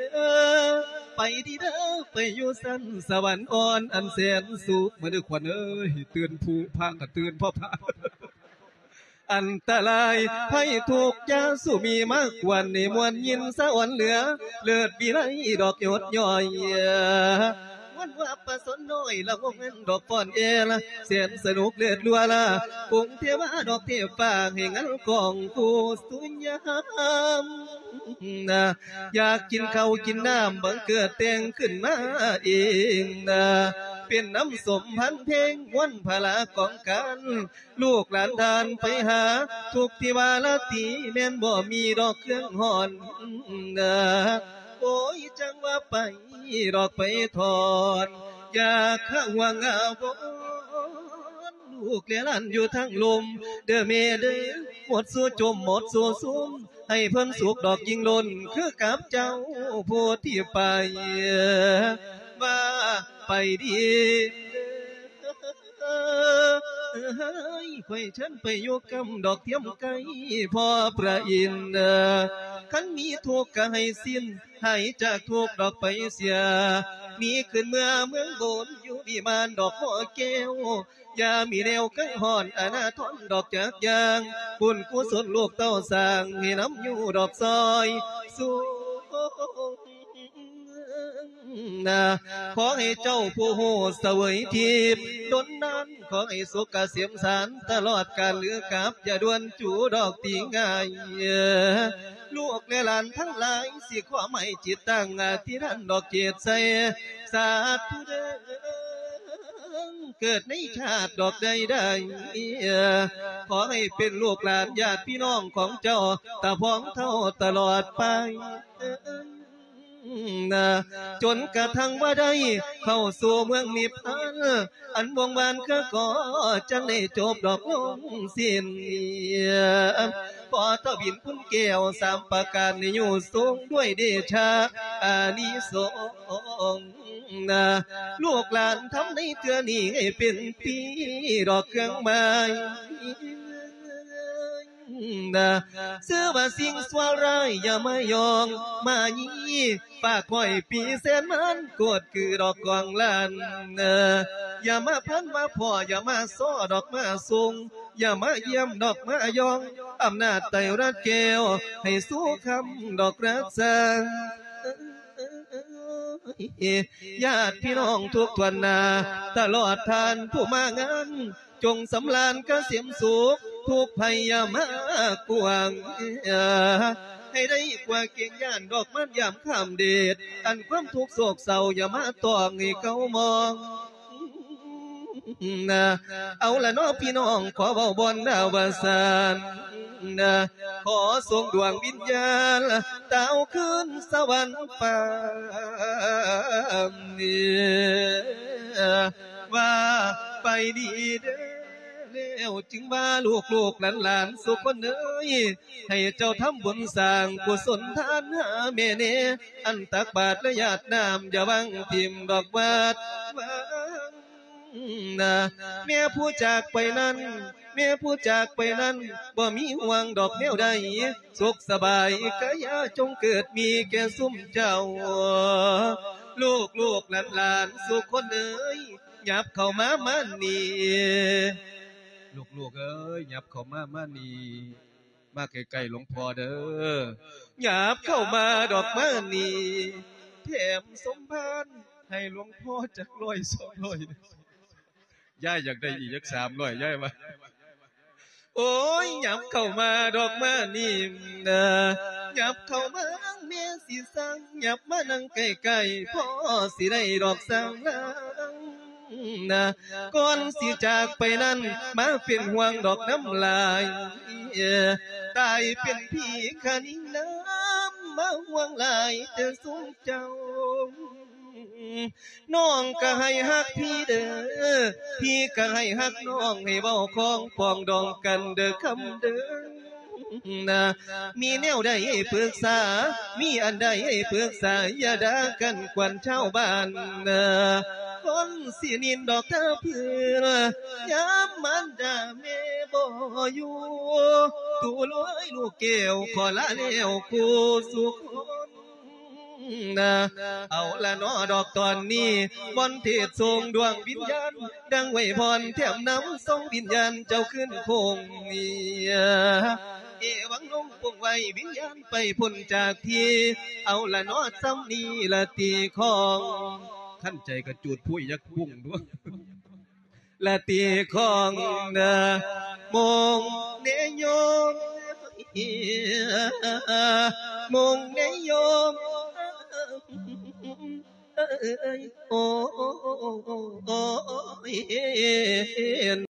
ໄປດີເດີ ໄປຢູ່ຊັ້ນສະຫວັນອ່ອນອັນແສນສຸກ ມາເດີຂວັນເອີຍ ຕື່ນຜູ້ພາກັນຕື່ນພໍ່ພາ ອັນຕະລາຍໄພທຸກຢ່າສູ່ມີມາກວນ ໃຫ້ມ່ວນຍິນສະອອນເຫຼືອ ເລີດວິໄລດອກຍົດຍ່ອຍ ມ່ວນວ່າປະຊົນນ້ອຍລະວົງເງິນດອກຟ້ອນແອລ ແສນສະໜຸກເລີດຫຼວລະ ກົງເທວາດອກເທບຟ້າ ໃຫ້ງັນກອງຄູ່ສູ່ຍາມ ຢາກກິນເຂົ້າກິນນ້ຳ ບັງເກີດແຕ່ງຂຶ້ນມາເອງນາ ເປັນນ້ຳສົມພັນເພງ ມ່ວນພະລາກອງການ ລູກຫຼານທ່ານໄປຫາ ທຸກທີ່ວ່າລາຕີ ແມ່ນບໍ່ມີດອກເຄື່ອງຮ້ອນນາ ໂອ້ຍ ຈັ່ງວ່າໄປດອກໄປຖອນ ຢາກຫາຫວງອາວອນ ລູກແລະຫຼານຢູ່ທາງລຸ່ມ ເດີແມ່ເດີ ໝົດສູ່ຈົມ ໝົດສູ່ຊຸມ ໃຫ້ເພິ່ນສຸກດອກຍິ່ງລົ້ນ ຄືກັບເຈົ້າຜູ້ທີ່ໄປ ວ່າໄປດີ. ຂ້ອຍເຊີນໄປຢູ່ກຳດອກທຽມໄກພໍ່ພະອິນ ຄັນມີທຸກກະໃຫ້ສິ້ນ ຫາຍຈາກທຸກດອກໄປເສຍ ໜີຂຶ້ນເມືອເມືອງບົນ ຢູ່ວິມານດອກຫໍແກ້ວ ຢ່າມີແນວກັງຫອນອານາທອນດອກຈັກຢ່າງ ບຸນກຸສົນລູກເຕົ້າສ້າງ ໃຫ້ນຳຢູ່ດອກຊ່ອຍສູງນາ. ຂໍໃຫ້ເຈົ້າຜູ້ຮູ້ສະເຫວີຍທິບດົນນານ ຂໍໃຫ້ສຸກກະເສມສານຕະຫຼອດການ ຫຼືກັບຢ່າດ່ວນຈູດອກຕີງ່າຍ. ລູກແລະຫຼານທັງຫຼາຍ ຊິຂໍໃຫ້ຈິດຕັ້ງອະທິຖານດອກຈິດໃສ່ ສາທຸເດີ ເກີດໃນຊາດດອກໃດໆ ຂໍໃຫ້ເປັນລູກຫຼານຍາດພີ່ນ້ອງຂອງເຈົ້າ ຕາພອງເທົ່າຕະຫຼອດໄປ ນະ ຈົນກະທັ່ງວ່າໄດ້ເຂົ້າສູ່ເມືອງນິບພານ ອັນວົງວານຄືກໍຈັ່ງໄດ້ຈົບດອກລົງສິ້ນ. ຂໍທະວິນຄຸນແກ້ວສາມປະການ ໃຫ້ຢູ່ສູງດ້ວຍເດຊະອານິສົງນະ ລູກຫຼານທຳໃນເທື່ອນີ້ ໃຫ້ເປັນປີດອກເຄື່ອງໝາຍນະ ຊື່ວ່າສິ່ງຊົ່ວຮ້າຍ ຢ່າມາຢອງມາຢີ ຝາກຂ້ອຍປີແສນມານ ກວດຄືດອກກອງລ້ານ ຢ່າມາພັນວ່າພໍ່ ຢ່າມາຊໍດອກມາຊົງ ຢ່າມາຢ້ຽມດອກມາຢອງ ອຳນາດໄຕຣະແກ້ວ ໃຫ້ສູ່ຄຳດອກຮັກສາ ຍາດພີ່ນ້ອງທຸກຖ້ວນໜ້າ ຕະຫຼອດທ່ານຜູ້ມາງານ ຈົ່ງສຳລານກະເສມສຸກ ທຸກໄພຢ່າມາກວາງ ໃຫ້ໄດ້ກວ່າເກງຢ້ານດອກມານຢາມຂ້າມເດດ ອັນຄວາມທຸກໂສກເສົ້າຢ່າມາຕ້ອງໃຫ້ເຂົາມອງ ນະ ເອົາລະເນາະພີ່ນ້ອງ ຂໍເວົ້າບ່ອນນາວ່າຊັ້ນນະ ຂໍສົ່ງດວງວິນຍານ ຕາວຄືນສະຫວັນຟ້າ ວ່າໄປດີເດີ ແລ້ວຈຶ່ງວ່າລູກໆຫຼານໆ ສູ່ຄົນເອີຍ ໃຫ້ເຈົ້າທຳບຸນສ້າງກຸສົນທານຫາແມ່ແນ່ ອັນຕັກບາດແລະຢາດນ້ຳ ຢ່າວາງຖິ້ມດອກວາດວາງນະ ແມ່ຜູ້ຈາກໄປນັ້ນ ແມ່ຜູ້ຈາກໄປນັ້ນ ບໍ່ມີຫ່ວງດອກແນວໃດ ສຸກສະບາຍກາຍາຈົ່ງເກີດມີແກ່ຊຸມເຈົ້າ ລູກໆຫຼານໆ ສູ່ຄົນເອີຍ ຫຍັບເຂົ້າມາມານີ້ ລູກໆເອີຍ ຫຍັບເຂົ້າມາມານີ້ ມາໃກ້ໆຫຼວງພໍ່ເດີ ຫຍັບເຂົ້າມາດອກມານີ້ ແຖມສົມພານໃຫ້ຫຼວງພໍ່ຈັກຮ້ອຍສອງຮ້ອຍ ຍາຍຢາກໄດ້ອີກຈັກສາມຮ້ອຍ ຍາຍວ່າ ໂອ້ຍ ຫຍັບເຂົ້າມາດອກມານີ້ນະ ຫຍັບເຂົ້າມາແມ່ຊິສັ່ງ ຫຍັບມານັ່ງໃກ້ໆ ພໍ່ຊິໄດ້ດອກສ້າງລາງ ນະ ກ່ອນຊິຈາກໄປນັ້ນ ມາເປັນຫ່ວງດອກນ້ຳລາຍ ຕາຍເປັນຜີຄະນິງນາມ ມາຫ່ວງຫຼາຍແຕ່ຊຸມເຈົ້າ ນ້ອງກະໃຫ້ຮັກພີ່ເດີ ພີ່ກະໃຫ້ຮັກນ້ອງ ໃຫ້ເວົ້າຂອງປອງດອງກັນເດີຄຳເດີ ນະ ມີແນວໃດໃຫ້ປຶກສາ ມີອັນໃດໃຫ້ປຶກສາ ຢ່າດ່າກັນກວນຊາວບ້ານນະ ຄົນຊິນິນດອກຕາເພື່ອ ຍາມມານດາແມ່ບໍ່ຢູ່ ຕູເອີຍລູກແກ້ວ ຂໍລາແລ້ວຄູ່ສູ່ຄົນ ນະ ເອົາລະເນາະດອກຕອນນີ້ ມອນເທດສົ່ງດວງວິນຍານ ດັ່ງໄວພອນແຖມນຳ ສົ່ງວິນຍານເຈົ້າຄືນຄົງ ເອວັງລົງປົງໄວ້ ວິນຍານໄປພົ້ນຈາກທີ່ ເອົາລະເນາະ ສ່ຳນີ້ລະຕິຂອງ ຄັນໃຈກະຈູດພຸ້ຍຈັກປຸ້ງດ້ວຍ ລະຕິຂອງເດີ ມົງເນໂຍມ ມົງເນໂຍມ ໂອ້ຍ